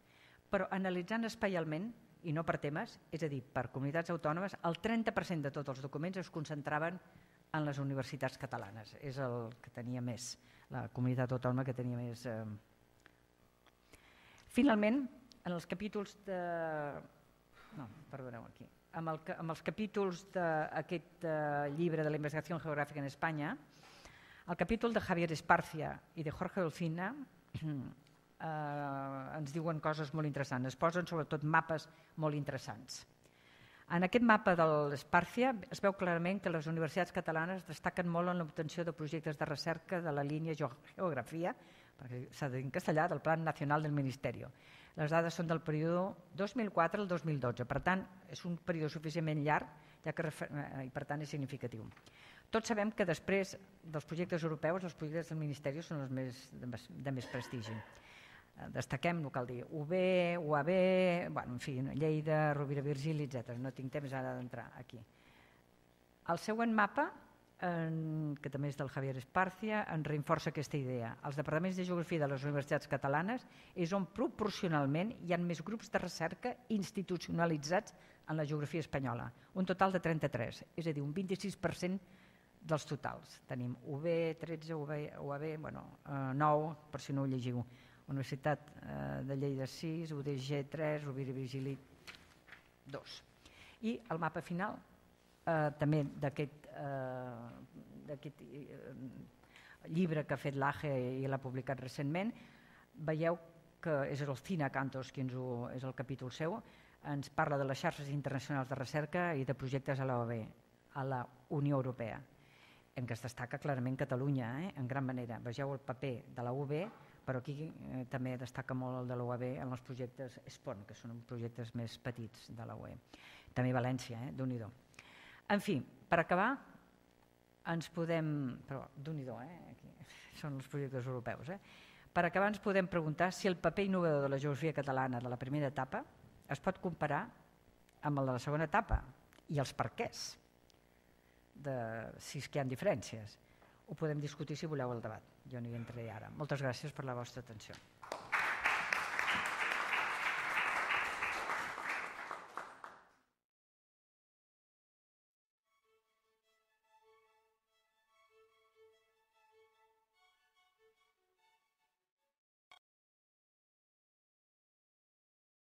Speaker 4: Però analitzant espaialment, i no per temes, és a dir, per comunitats autònomes, el 30% de tots els documents es concentraven en les universitats catalanes. És el que tenia més, la comunitat autònoma que tenia més. Finalment, en els capítols de... No, perdoneu aquí. Amb els capítols d'aquest llibre de la investigació geogràfica en Espanya, el capítol de Javier Esparcia i de Jorge Dolcina ens diuen coses molt interessants, es posen sobretot mapes molt interessants. En aquest mapa de l'Esparcia es veu clarament que les universitats catalanes destaquen molt en l'obtenció de projectes de recerca de la línia geografia, perquè s'ha dit en castellà, del Plan Nacional del Ministerio. Les dades són del període 2004 al 2012, per tant, és un període suficientment llarg i per tant és significatiu. Tots sabem que després dels projectes europeus, els projectes del Ministeri són els de més prestigi. Destaquem, no cal dir, UB, UAB, en fi, Lleida, Rovira i Virgili, etc. No tinc temps ara d'entrar aquí. El següent mapa, que també és del Javier Esparcia, ens reinforça aquesta idea. Els departaments de geografia de les universitats catalanes és on proporcionalment hi ha més grups de recerca institucionalitzats en la geografia espanyola, un total de 33, és a dir, un 26% dels totals. Tenim UB, 13, UAB, 9, per si no ho llegiu. Universitat de Lleida 6, UDG 3, Rovira i Virgili 2. I el mapa final, també d'aquest llibre que ha fet l'AGE i l'ha publicat recentment, veieu que és el Cina Cantos, que és el capítol seu, ens parla de les xarxes internacionals de recerca i de projectes a l'OAB, a la Unió Europea, en què es destaca clarament Catalunya, en gran manera. Vegeu el paper de la UB, però aquí també destaca molt el de l'UAB en els projectes SPON, que són projectes més petits de la UE. També València, Déu-n'hi-do. En fi, per acabar, ens podem... Però Déu-n'hi-do, aquí són els projectes europeus. Per acabar ens podem preguntar si el paper innovador de la geografia catalana de la primera etapa es pot comparar amb el de la segona etapa i els perquès, si és que hi ha diferències. Ho podem discutir si voleu el debat. Jo no hi entraré ara. Moltes gràcies per la vostra atenció.